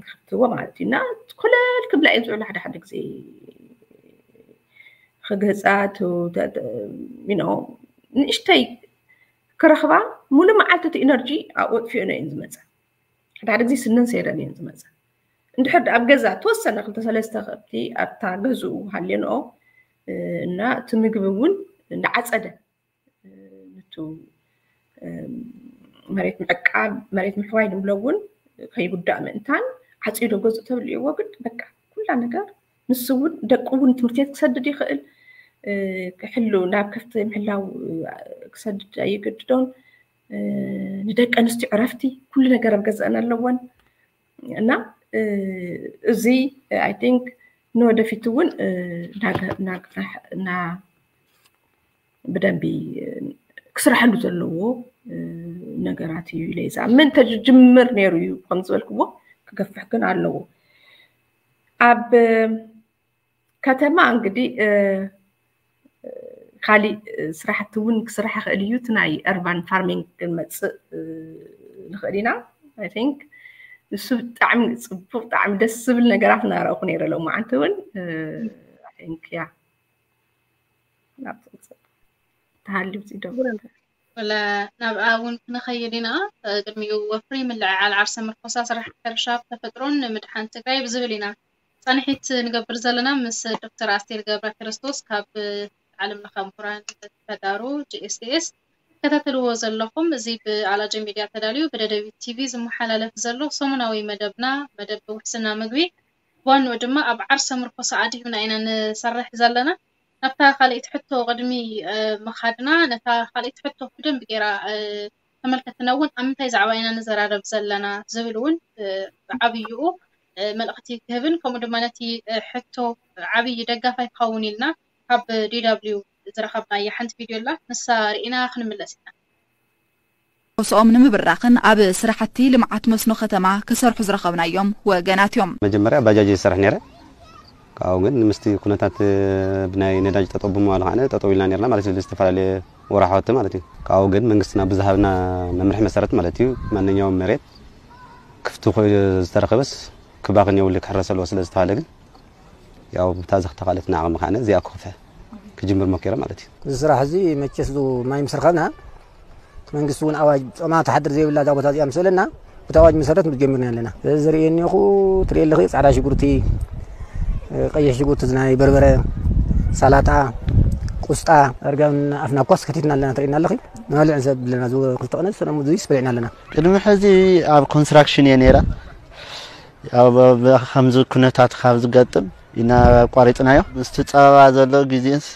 ከብትዎ ማለት እዩ። እና ኮለል ክብላ እየን ዝውዕላ ሓደ ሓደ ግዜ ክገፃ ንእሽተይ ክረኽባ ሙሉ መዓልቲ እቲ ኢነርጂ ኣጥፊኦን እየን ዝመፃ። ሓደ ሓደ ግዜ ስነን ሰይረን እየን ዝመፃ። እንድሕር ኣብ ገዛ ተወሰነ ክልተ ሰለስተ ከብቲ ኣብታ ገዝኡ ሃልየንኦ እና እቲ ምግቢ እውን እንዳዓፀደ ንቱ መሬት ምዕቃብ መሬት ምሕዋይ ንብሎ እውን ከይጉዳእ ምእንታን ዓፂዶ ገዝኡ ተብልዕዎ ግን በቃ ኩላ ነገር ንሱ እውን ደቁ እውን ትምህርቲ ቤት ክሰድድ ይኽእል ክሕሉ ናብ ከፍቲ ምሕላው ክሰድድ ኣይገድዶን። ንደቂ ኣንስትዮ ዕረፍቲ ኩሉ ነገር ኣብ ገዛእን ኣለወን እና እዚ ኣይ ቲንክ ንወደፊት እውን ብደንቢ ክስራሐሉ ዘለዎ ነገራት እዩ ኢለ ይዝኣምን። ተጅምር ነይሩ እዩ ከም ዝበልክዎ ክገፍሕ ግን ኣለዎ። ኣብ ከተማ እንግዲህ ካሊእ ስራሕቲ እውን ክስራሕ ይኽእል እዩ። እቲ ናይ urban farming ክንመፅእ ንኽእል ኢና። I think ንሱ ብጣዕሚ ፅቡቅ ብጣዕሚ ደስ ዝብል ነገራት እናረእኩ ነይረ ሎማዓንቲ እውን I think ያ ተሃልዩ ዶ ናብኣ እውን ክንኸይድ ኢና። ቅድሚኡ ወፍሪ ምልዕዓል ዓርሰ ምርኮሳ ስራሕ ሕርሻ ተፈጥሮን ንምድሓን ትግራይ ብዝብል ኢና ፃንሒት ንገብር ዘለና። ምስ ዶክተር ኣስቴር ገብረ ክርስቶስ ካብ ዓለም ለኸ ምሁራን ተጋሩ ጂኤስቲኤስ ትከታተልዎ ዘለኹም። እዚ ብኣላጀ ሚድያ ተዳልዩ ብደደቢት ቲቪ ዝመሓላለፍ ዘሎ ሰሙናዊ መደብና፣ መደብ ውሕስና ምግቢ፣ ብዋንኡ ድማ ኣብ ዓርሰ ምርኮሳ ኣድሂብና ኢና ንሰርሕ ዘለና። ናብታ ካልኣይቲ ሕቶ ቅድሚ ምኻድና፣ ነታ ካልኣይቲ ሕቶ ብደንብ ጌራ ተመልከትና እውን ኣብ ምንታይ ዛዕባ ኢና ንዘራረብ ዘለና ዝብል እውን ብዓብይኡ መልእኽቲ ክህብን ከምኡ ድማ ነቲ ሕቶ ዓብይ ደጋፋይ ክኸውን ኢልና ካብ ዲደብሊው ዝረኸብናያ ሓንቲ ቪድዮ ኣላ። ንሳ ርኢና ክንምለስ ኢና። ርእሶም ንምብራኽን ኣብ ስራሕቲ ልምዓት መስኖ ከተማ ክሰርሑ ዝረኸብናዮም ወገናት እዮም። መጀመርያ ባጃጅ እየ ዝሰርሕ ነይረ። ካብኡ ግን ምስቲ ኩነታት ብናይ ነዳጅ ጠጠው ብምባሉ ከዓ ጠጠው ኢልና ነርና ማለት እዩ። ዝተፈላለየ ወራሕወቲ ማለት እዩ። ካብኡ ግን መንግስትና ብዝሃብና መምርሒ መሰረት ማለት እዩ ማንኛውም መሬት ክፍቲ ኮይኑ ዝተረኸበስ ክባኽን የብሉ ክሕረስ ኣለዎ ስለ ዝተባሃለ ግን ያው ብታ ዘኽተኻለት ንዓቕሚ ከዓነ እዚኣ ክኸፍሐ ክጅምር ሞኪረ ማለት እዩ። እዚ ስራሕ እዚ መቸስ ዙ ማይ ምስ ረኸብና እቲ መንግስቲ እውን ኣዋጅ ጾማ ትሓድር ዘይብላ እዛ ቦታ እዚኣ ምስ በለና ብቲ ኣዋጅ መሰረት ጀሚርና ኣለና። እዚ ዝርእየኒ እኹ ትርእየ ኣለኺ ጻዕዳ ሽጉርቲ፣ ቀይሕ ሽጉርቲ ዝናይ በርበረ፣ ሳላጣ፣ ቁስጣ ዳርጋ ኣፍና ኳስ ከቲትና ኣለና ትርእየና ኣለኺ። ንበልዕ ንሰብ ኣለና ዙ ክልተ ቀነ ዝሰለሙ ዙ ይስበልዕና ኣለና። ቅድሚ ሕዚ ኣብ ኮንስትራክሽን እየ ነይረ። ያው ከምዚ ኩነታት ካብ ዝገጥም ኢና ኣቋሪፅናዮ። ምስቲ ፀበባ ዘሎ ግዜንስ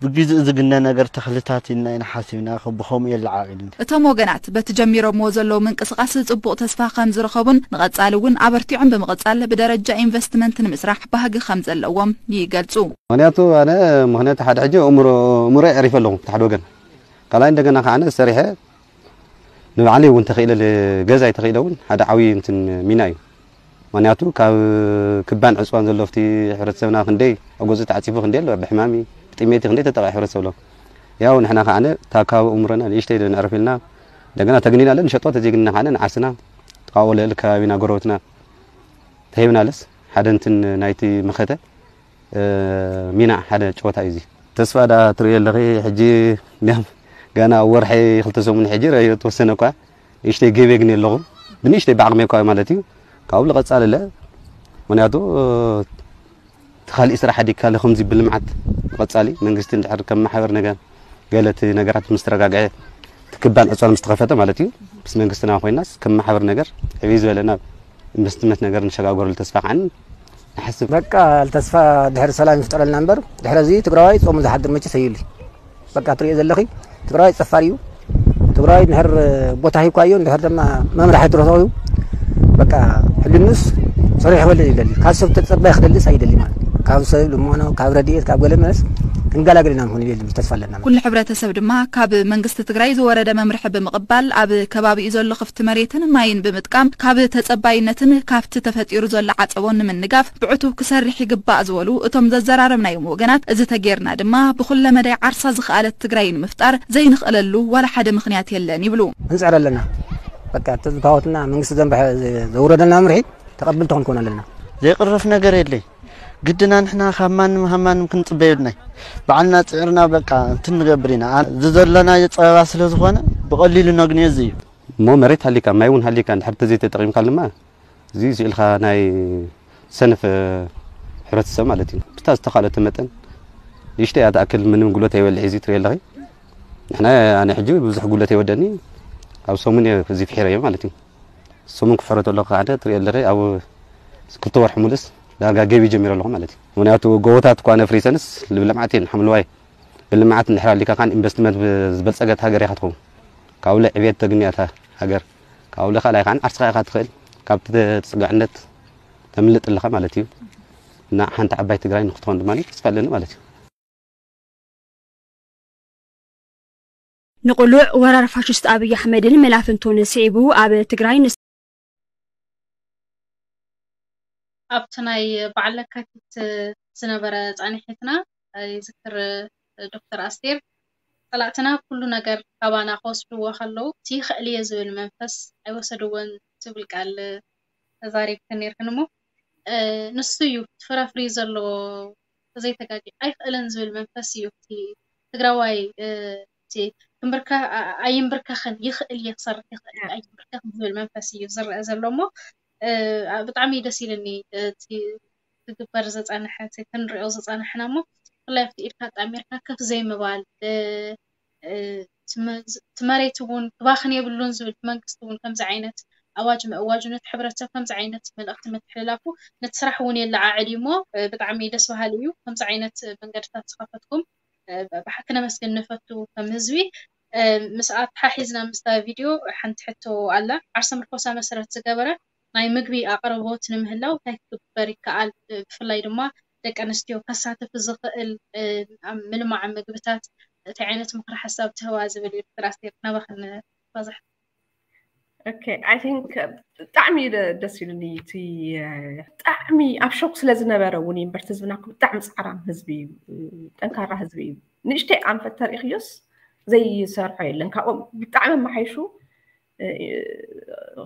ብግዜኡ ዝግነ ነገር ተኽልታት ኢልና ኢና ሓሲብና ብኸምኡ የለዓዕል። እቶም ወገናት በቲ ጀሚሮምዎ ዘለዉ ምንቅስቓስ ፅቡቕ ተስፋ ከም ዝረኸቡን ንቐፃሊ እውን ኣበርቲዖም ብምቕፃል ብደረጃ ኢንቨስትመንት ንምስራሕ ባህጊ ከም ዘለዎም ይገልፁ። ምኽንያቱ ኣነ ምኽንያቱ ሓደ ሕጂ እምሮ እምሮ የዕሪፈ ኣለኹ እቲ ሓደ ወገን ካልኣይ እንደገና ከዓ ሰሪሐ ንባዕለይ እውን ተኽኢለ ገዛይ ተኽኢለ እውን ሓደ ዓብዪ እንትን ሚና እዩ። ምኽንያቱ ካብ ክባን ዕፅዋን ዘሎ ኣብቲ ሕብረተሰብና ክንደይ ኣብ ገዝኡ ተዓፂፉ ክንደይ ኣሎ ብሕማሚ ብጥሜቲ ክንደይ ተጠቃ ሕብረተሰብ ኣሎ። ያው ንሕና ከዓ እታ ካብ እምሮና ንእሽተይ ነዕርፍ ኢልና እንደገና ተግኒና ለ ንሸጦ ተዘይግንና ከዓ ንዓርስና ጥቃ ወለል ከባቢና ጎረበትና ተሂብናለስ ሓደ እንትን ናይቲ መኸተ ሚና ሓደ ጨወታ እዩ እዚ። ተስፋ ዳ ትርእዮ ኣለኺ ሕጂ እንዲያም ገና ወርሒ ክልተ ሰሙን ሕጂ ረዮ ተወሰነ እኳ ንእሽተይ ገቤ ግን ኣለኹ ብንእሽተይ ብዓቕሚ እኳ ማለት እዩ ካብኡ ልቐጻል ኣለ ምክንያቱ እቲ ካሊእ ስራሕ ኣዲካ ለኸምዚ ብልምዓት ንቐጻሊ መንግስቲ እንድሕር ከም ማሕበር ነገር ገለ እቲ ነገራት ምስ ተረጋግዐ እቲ ክባን ዕፅዋን ምስ ተኸፈተ ማለት እዩ ምስ መንግስትና ኮይናስ ከም ማሕበር ነገር ዕብይ ዝበለ ናብ ኢንቨስትመንት ነገር ንሸጋገረሉ ተስፋ ከዓ ንሓስብ። በቃ ተስፋ ድሕሪ ሰላም ይፍጠረልና እምበር ድሕሪ እዚ ትግራዋይ ፆሙ ዝሓድር መቸስ ኣየሉ። በቃ ትሪኦ ዘለኺ ትግራዋይ ፀፋር እዩ። ትግራዋይ እንድሕር ቦታ ሂብካዮ እንድሕር ድማ መምራሕ ትረኽቡ በቃ ሕልኑስ ሰሪሑ ክበልዕ ይደሊ። ካብ ሰብ ተፀባይ ክደልስ ኣይደሊ ማለት ካብ ሰብ ልመኖ ካብ ረድኤት ካብ ገለ መለስ ክንገላገል ኢና ንኾን ይደሊ ተስፋ ኣለና። ኩሉ ሕብረተሰብ ድማ ካብ መንግስቲ ትግራይ ዝወረደ መምርሒ ብምቕባል ኣብ ከባቢኡ ዘሎ ክፍቲ መሬትን ማይን ብምጥቃም ካብ ተፀባይነትን ካብቲ ተፈጢሩ ዘሎ ዓፀቦን ንምንጋፍ ብዕቱብ ክሰርሕ ይግባእ ዝበሉ እቶም ዘዘራረብናዮም ወገናት፣ እዚ ተጌርና ድማ ብኹለ መዳይ ዓርሳ ዝኸኣለት ትግራይ ንምፍጣር ዘይንኽእለሉ ዋላ ሓደ ምኽንያት የለን ይብሉ። ክንፅዕር ኣለና። በቃ ተዝተዋትና መንግስቲ ዘንበሐ ዘውረደና ምርሒ ተቐብል ተኾን ክኾን ኣለና። ዘይቕረፍ ነገር የለይ። ግድና ንሕና ካብ ማንም ካብ ማንም ክንፅበ የብልናይ። ባዕልና ፅዕርና በቃ እንትን ንገብር ኢና። ዝዘለናዮ ፀበባ ስለ ዝኾነ ብቐሊሉ ነግንዮ እዚ እዩ። እሞ መሬት ሃሊካ ማይ እውን ሃሊካ እንድሕር ተዘይተጠቂምካሉ ድማ እዚ ስኢልካ ናይ ሰነፍ ሕብረተሰብ ማለት እዩ። ብታ ዝተኻለተ መጠን ንእሽተይ እያ ትኣክል ምንም ጉልበት ኣይበልዕ እዚ ትሪኦ ኣለኺ። ንሕና ኣነ ሕጂ ብዙሕ ጉልበት ኣይወደኒ ኣብ ሰሙን እየ እዚ ፍሒረዮ ማለት እዩ። ሰሙን ክሕረቶ ኣለኹ ሓደ ትሪኦ ኣለኺ ኣብ ክልተ ወርሒ ሙሉስ ዳርጋ ገቢ ጀሚረ ኣለኹ ማለት እዩ። ምክንያቱ ጎቦታት እኳ ነፍሪሰንስ ልምዓት እየን ሓምለዋይ ብልምዓት እንድሕር ኣሊካ ከዓ ኢንቨስትመንት ዝበልፀገት ሃገር ኢኻ ትኸውን። ካብኡ ዕብየት ተግንያ እታ ሃገር። ካብኡ ካልኣይ ከዓ ዓርስኻ ኢኻ ትኽእል ካብቲ ተፅጋዕነት ተምልጥ ኣለኻ ማለት እዩ። እና ሓንቲ ዓባይ ትግራይ ንክትኾን ድማ ተስፋ ኣለኒ ማለት እዩ። ንቕሉዕ ወራር ፋሽስት ኣብይ ኣሕመድን መላፍንቱን ስዒቡ ኣብ ትግራይ ን ኣብቲ ናይ በዓል ለካቲት ዝነበረ ፃንሒትና ይዝክር ዶክተር ኣስቴር ፀላእትና ኩሉ ነገር ካባና ክወስድዎ ከለዉ እቲ ይኽእል እየ ዝብል መንፈስ ኣይወሰድዎን ትብል ቃል ተዛሪብክን ነይርክን እሞ ንሱ እዩ እቲ ፍረ ኣፍርዩ ዘሎ ተዘይተጋግየ ኣይኽእልን ዝብል መንፈስ እዩ እቲ ትግራዋይ ክንብርከኽ ኣይንብርከኽን፣ ይኽእል እየ ክሰርሕ ይኽእል ኣይንብርከኽን ዝብል መንፈስ እዩ ዝረአ ዘሎ። እሞ ብጣዕሚ ደስ ኢልኒ እቲ ክግበር ዝፀንሐ፣ እቲ ክንሪኦ ዝፀናሕና። እሞ ብፍላይ ኣብቲ ኢድካ ኣጣሚርካ ከፍ ዘይምባል፣ እቲ መሬት እውን ክባኽን የብሉን ዝብል መንግስቲ እውን ከምዚ ዓይነት ኣዋጅ ምእዋጁ፣ ነቲ ሕብረተሰብ ከምዚ ዓይነት መልእኽቲ ምትሕልላፉ ነቲ ስራሕ እውን የለዓዕል እዩ። እሞ ብጣዕሚ ደስ በሃሊ እዩ። ከምዚ ዓይነት መንገድታት ዝኸፈትኩም ብሓቂ ነመስግን ንፈቱ ከም ህዝቢ። ምስ ኣተሓሒዝና ምስታ ቪድዮ ሓንቲ ሕቶ ኣላ። ዓርሰ ምርኮሳ መሰረት ዝገበረ ናይ ምግቢ ኣቕርቦት ንምህላው እንታይ ክግበር ይከኣል? ብፍላይ ድማ ደቂ ኣንስትዮ ከሳትፍ ዝኽእል ኣብ ምልማዕ ምግብታት እንታይ ዓይነት ምኽሪ ሓሳብ ትህባ ዝብል እዩ። ዶክተር ኣስቴር፣ ናባኽን ባዝሕ። Okay, I think ብጣዕሚ ደስ ኢሉኒ። እቲ ብጣዕሚ ኣብ ሾክ ስለ ዝነበረ እውን እምበር ህዝብና ብጣዕሚ ፃዕራም ህዝቢ እዩ፣ ጠንካራ ህዝቢ እዩ። ንእሽተይ ኣንፈት ተሪእኽዮስ ዘይሰርሖ የለን። ካብኦም ብጣዕሚ መሓይሹ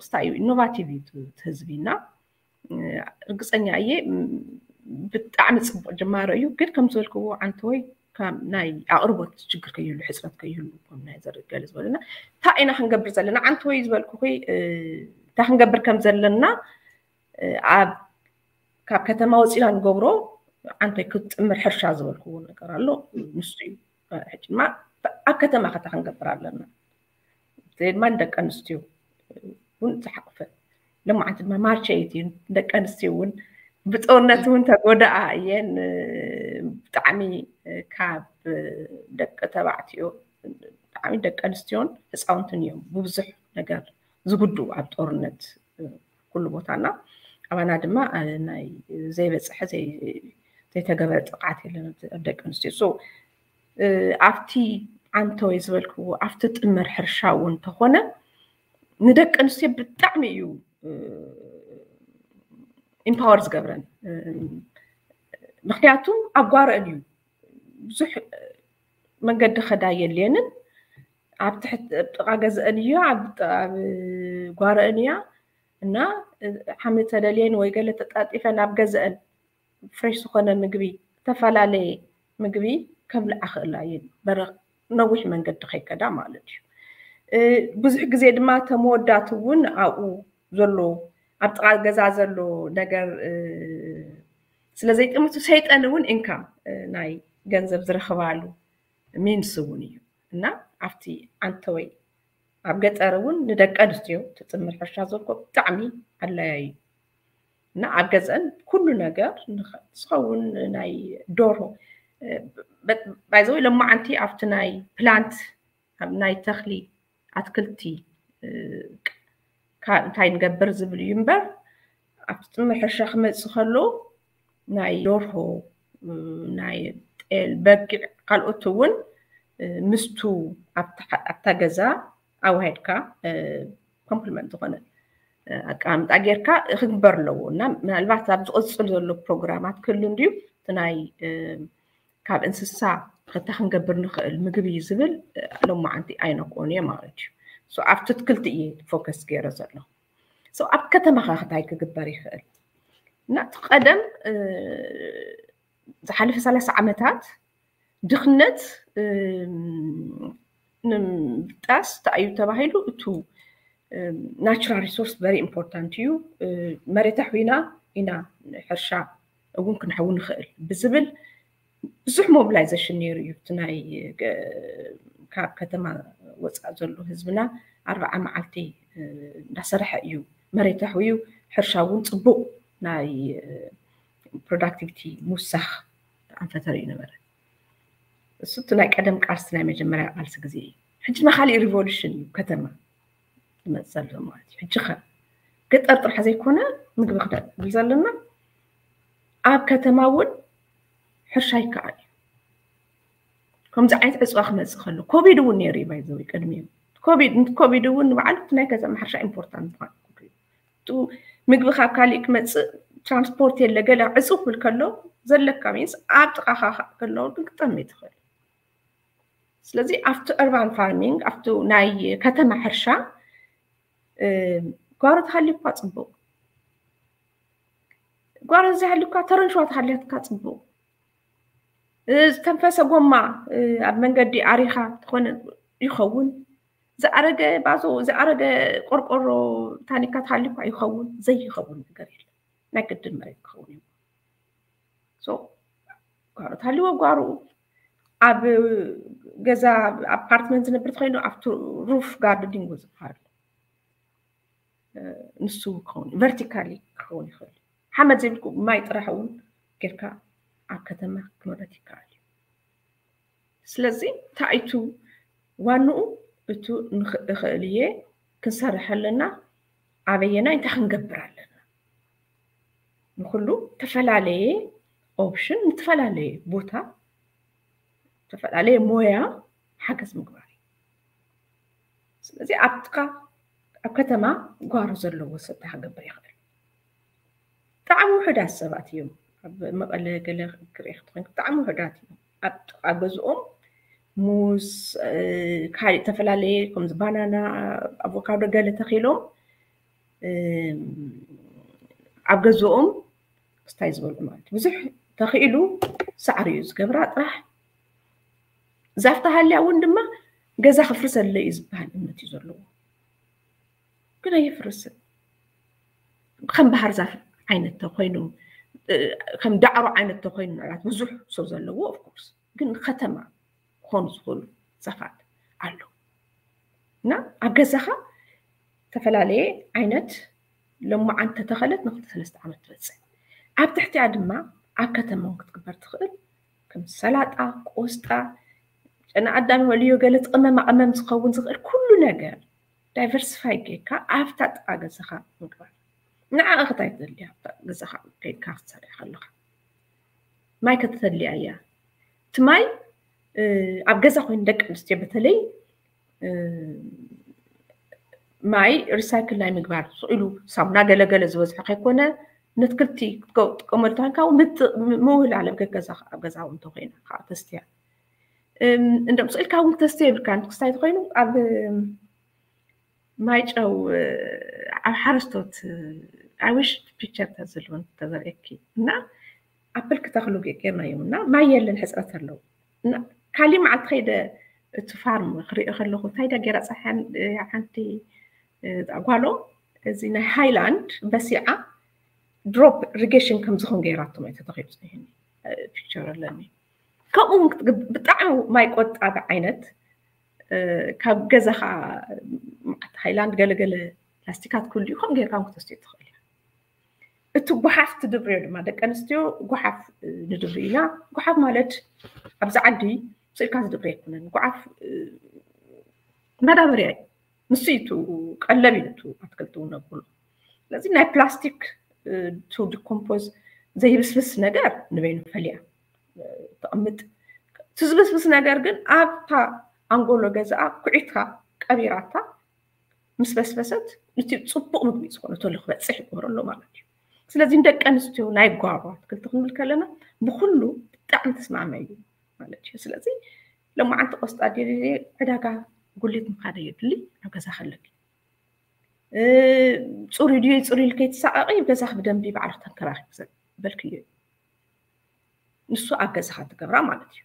ስታ እዩ፣ ኢኖቫቲቭ እዩ እቲ ህዝቢ። እና ርግፀኛ እየ ብጣዕሚ ፅቡቅ ጅማሮ እዩ። ግን ከም ዝበልክዎ ዓንተወይ ናይ ኣቅርቦት ችግር ከይህሉ፣ ሕፅረት ከይህሉ፣ ከም ናይ ዘርገለ ዝበለና እንታይ ኢና ክንገብር ዘለና? ዓንተወይ ዝበልኩ እንታይ ክንገብር ከም ዘለና ኣብ ካብ ከተማ ወፂና ንገብሮ፣ ዓንተወይ ክትጥምር ሕርሻ ዝበልክዎ ነገር ኣሎ። ንሱ እዩ። ሕጂ ድማ ኣብ ከተማ ከታ ክንገብር ኣለና። ድማ ንደቂ ኣንስትዮ እውን ዝሓቅፈ፣ ለማዓንቲ ድማ ማርቸይቲ ደቂ ኣንስትዮ እውን ብጦርነት እውን ተጎዳኣ እየን። ብጣዕሚ ካብ ደቂ ተባዕትዮ ብጣዕሚ ደቂ ኣንስትዮን ህፃውንትን እዮም ብብዙሕ ነገር ዝጉድኡ ኣብ ጦርነት ኩሉ ቦታና። ኣባና ድማ ናይ ዘይበፅሐ ዘይተገበረ ጥቕዓት የለን ደቂ ኣንስትዮ። ኣብቲ ዓንተወይ ዝበልክዎ ኣብቲ ጥምር ሕርሻ እውን እንተኾነ ንደቂ ኣንስትዮ ብጣዕሚ እዩ ኢምፓወር ዝገብረን። ምክንያቱም ኣብ ጓረአን እዩ፣ ብዙሕ መንገዲ ከዳ የድልየንን። ኣብ ጥቓ ገዘአን እዩ፣ ኣብ ጓረአን እያ። እና ሓሚ ተደልየን ወይ ገለ ተጣጢፈን ኣብ ገዘአን ፍሬሽ ዝኾነ ምግቢ፣ ዝተፈላለየ ምግቢ ከብልዓ ክእላ እየን። ነዊሕ መንገዲ ከይከዳ ማለት እዩ። ብዙሕ ግዜ ድማ ተመወዳት እውን ኣብኡ ዘሎ ኣብ ጥቓ ገዛ ዘሎ ነገር ስለ ዘይጥምቱ ሰይጠን እውን ኢንካም ናይ ገንዘብ ዝረኽባሉ ሚንስ እውን እዩ። እና ኣብቲ ዓንተወይ ኣብ ገጠር እውን ንደቂ ኣንስትዮ ትጥምር ሕርሻ ዘኮ ብጣዕሚ ኣድላያይ እዩ። እና ኣብ ገዘን ኩሉ ነገር ዝኸውን ናይ ዶርሆ ባይዘወይ ለማዓንቲ ኣብቲ ናይ ፕላንት ኣብ ናይ ተኽሊ ኣትክልቲ እንታይ ንገብር ዝብል እዩ እምበር ኣብቲ ጥምር ሕርሻ ክመፅእ ከሎ ናይ ዶርሆ ናይ ጤል በጊዕ ካልኦት እውን ምስቱ ኣብታ ገዛ ኣዋሂድካ ኮምፕሊመንት ዝኾነ ኣቀማምጣ ጌርካ ክግበር ኣለዎ። እና ምናልባት ኣብ ዝቕፅል ዘሎ ፕሮግራማት ክህሉ እንድዩ እቲ ናይ ካብ እንስሳ ከታ ክንገብር ንኽእል ምግቢ ዝብል ሎማዓንቲ ኣይነክኦን እየ ማለት እዩ። ኣብቲ ኣትክልቲ እየ ፎከስ ገይረ ዘሎ። ኣብ ከተማ ከ እንታይ ክግበር ይኽእል? እና እቲ ቀደም ዝሓለፈ ሰላሳ ዓመታት ድኽነት ንምብጣስ እንታይ እዩ ተባሂሉ? እቱ ናቹራል ሪሶርስ ቨሪ ኢምፖርታንት እዩ። መሬት ኣሕዊና ኢና ሕርሻ እውን ክንሕዊ ንኽእል ብዝብል ብዙሕ ሞቢላይዜሽን ነይሩ እዩ። እቲ ናይ ካብ ከተማ ወፃእ ዘሎ ህዝብና ኣርባዓ መዓልቲ እንዳሰርሐ እዩ መሬት ኣሕውዩ ሕርሻ እውን ፅቡቅ ናይ ፕሮዳክቲቪቲ ምውሳኽ ኣንፈተር እዩ ነበረ። እሱ እቲ ናይ ቀደም ቃልሲ ናይ መጀመርያ ቃልሲ ግዜ እዩ። ሕጂ ናይ ካሊእ ሪቮሉሽን እዩ ከተማ ዝመፅእ ዘሎ ማለት እዩ። ሕጂ ከ ገጠር ጥራሕ ዘይኮነ ምግቢ ክነብል ዘለና ኣብ ከተማ እውን ሕርሻ ይከኣል እዩ። ከምዚ ዓይነት ዕፅዋ ክመፅእ ከሎ ኮቪድ እውን ነይሩ እዩ ባይዘዊ ቅድሚኡ ኮቪድ ኮቪድ እውን ንባዕሉ ናይ ከተማ ሕርሻ ኢምፖርታንት ምኳኑ ምግቢ ካብ ካሊእ ክመፅእ ትራንስፖርት የለ ገለ ዕፅው ክብል ከሎ ዘለካ ሚንስ ኣብ ጥቃካ ከሎ ግን ክጠሚ ትኽእል። ስለዚ ኣብቲ urban farming ኣብቲ ናይ ከተማ ሕርሻ ጓሮ ተሃልዩ እኳ ፅቡቅ፣ ጓሮ ዘይሃልዩ እኳ ተረንሸዋ ተሃልያትካ ፅቡቅ። ዝተንፈሰ ጎማ ኣብ መንገዲ ኣሪኻ ዝኾነ ይኸውን። ዝኣረገ ባዞ ዝኣረገ ቆርቆሮ ታኒካ ተሃልዩ እኳ ይኸውን። ዘይኸውን ነገር የለን። ናይ ግድን መሬት ክኸውን እዩ። ጓሮ ተሃልዎ ጓሮኡ፣ ኣብ ገዛ ኣፓርትመንት ዝነብር ተኮይኑ ኣብቲ ሩፍ ጋርደኒንግ ዝበሃል ንሱ ክኸውን ቨርቲካሊ ክኸውን ይኽእል። ሓመድ ዘይብልኩ ማይ ጥራሕ እውን ጌርካ ኣብ ከተማ ክምረት ይከኣል እዩ። ስለዚ እንታይ እዩ ዋንኡ? እቱ ንኽእል እየ ክንሰርሕ ኣለና፣ ኣበየና እንታይ ክንገብር ኣለና? ንኩሉ ተፈላለየ ኦፕሽን ንተፈላለየ ቦታ ተፈላለየ ሞያ ሓገዝ ምግባር እዩ። ስለዚ ኣብትካ ኣብ ከተማ ጓሮ ዘለዎ ሰብ ክገብር ይኽእል። ብጣዕሚ ውሑዳት ሰባት እዮም ኣብ መቐለ ገለ ክርኢ ክትኮን ብጣዕሚ ውሑዳት እዮም። ኣብ ጥቓ ገዝኦም ሙዝ፣ ካልእ ዝተፈላለየ ከምዚ ባናና፣ ኣቮካዶ ገለ ተኺሎም ኣብ ገዝኦም ክስታይ ዝበልዑ ማለት ብዙሕ ተኽኢሉ ሳዕሪ እዩ ዝገብራ ጥራሕ። ዛፍ ተሃልያ እውን ድማ ገዛ ክፍርሰለ እዩ ዝበሃል እምነት እዩ ዘለዎ። ግን ኣየፍርስን። ከም ባህር ዛፍ ዓይነት ተኮይኑ ከም ዳዕሮ ዓይነት ተኮይኑ ምናልባት ብዙሕ ሰው ዘለዎ ኦፍኮርስ ግን ከተማ ክኾኑ ዝኽእሉ ዛፋት ኣለዉ እና ኣብ ገዛኻ ዝተፈላለየ ዓይነት ለማዓን ተተኸለት ንክልተ ሰለስተ ዓመት ትበፅሕ። ኣብ ትሕቲኣ ድማ ኣብ ከተማ ክትግበር ትኽእል ከም ሰላጣ፣ ቆስጣ፣ ጨና ኣዳም ወልዮ ገለ ትቕመማ ቅመም ዝኸውን ዝኽእል ኩሉ ነገር ዳይቨርሲፋይ ጌርካ ኣብታ ጥቓ ገዛኻ ምግባር። ንዓ እኽታይ ትደልያ ኣብታ ገዛኻ ከይድካ ክትሰርሕ ከለኻ ማይ ከተተልያ እያ። እቲ ማይ ኣብ ገዛ ኮይኑ ደቂ ኣንስትዮ በተለይ ማይ ሪሳይክል ናይ ምግባር ስቕ ኢሉ ሳሙና ገለገለ ዝበዝሖ ከይኮነ ነትክልቲ ክትጥቀመሉ ተኮይንካ ምውህላል ኣብ ገገዛ ኣብ ገዛ እውን እንተኮይና ከዓ ተስትያ እንደም ስቕ ኢልካ እውን ክተስተ የብልካን ክስታይ ተኮይኑ ኣብ ማይጨው ኣብ ሓረስቶት ኣዊሽ ፒክቸር ተዝልውን ተዘርእኪ እና ኣፕል ክተኽሉ ጌርናዮም እና ማይ የለን ሕፅረት ኣለዉ። ካሊእ መዓልቲ ከይደ እቲ ፋርም ክሪኦ ከለኹ እንታይ ዳ ጌራ ፀሓን ሓንቲ ጓሎም እዚ ናይ ሃይላንድ በሲዓ ድሮፕ ኢሪጌሽን ከም ዝኾን ገይራቶም እየ ተተኺሉ ፀኒሕኒ። ፒክቸር ኣለኒ። ከምኡ እውን ብጣዕሚ ማይ ቆጣቢ ዓይነት ካብ ገዛኻ ሃይላንድ ገለገለ ላስቲካት ክህሉ እዩ ከም ጌርካ እውን ክተስትዮ ትኽእል እያ። እቲ ጓሓፍ ትድብርዮ ድማ ደቂ ኣንስትዮ ጓሓፍ ንድብሪ ኢና። ጓሓፍ ማለት ኣብዚ ዓዲ ስኢልካ ዝድብሪ ኣይኮነን። ጓሓፍ ማዳበርያ እዩ። ንሱ እዩ ቀለብ ኢሉ ኣትክልቲ እውን ኣብሉ። ስለዚ ናይ ፕላስቲክ ቱ ዲኮምፖዝ ዘይብስብስ ነገር ንበይኑ ፈልያ ተቐምጥ። እቲ ዝብስብስ ነገር ግን ኣብታ ኣንጎሎ ገዛኣ ኩዒትካ ቀቢራታ ምስ በስበሰት እቲ ፅቡቕ ምግቢ ዝኾነ ተሎ ክበፅሕ ይገብሮ ኣሎ ማለት እዩ። ስለዚ ንደቂ ኣንስትዮ ናይ ጓሮ ኣትክልቲ ክንብል ከለና ብኩሉ ብጣዕሚ ተስማማይ እዩ ማለት እዩ። ስለዚ ሎማዓንቲ ቆስጣ ድየ ዕዳጋ ጉሊት ምኻደ የድሊ ኣብ ገዛ ከለኪ ፅሩይ ድዩ ፅሩይ ኢልከ ይትሳቐቂ ገዛኺ ብደንቢ ባዕልኺ ተንከባኺ ዘበልክዮ እዩ። ንሱ ኣብ ገዛኻ ትገብራ ማለት እዩ።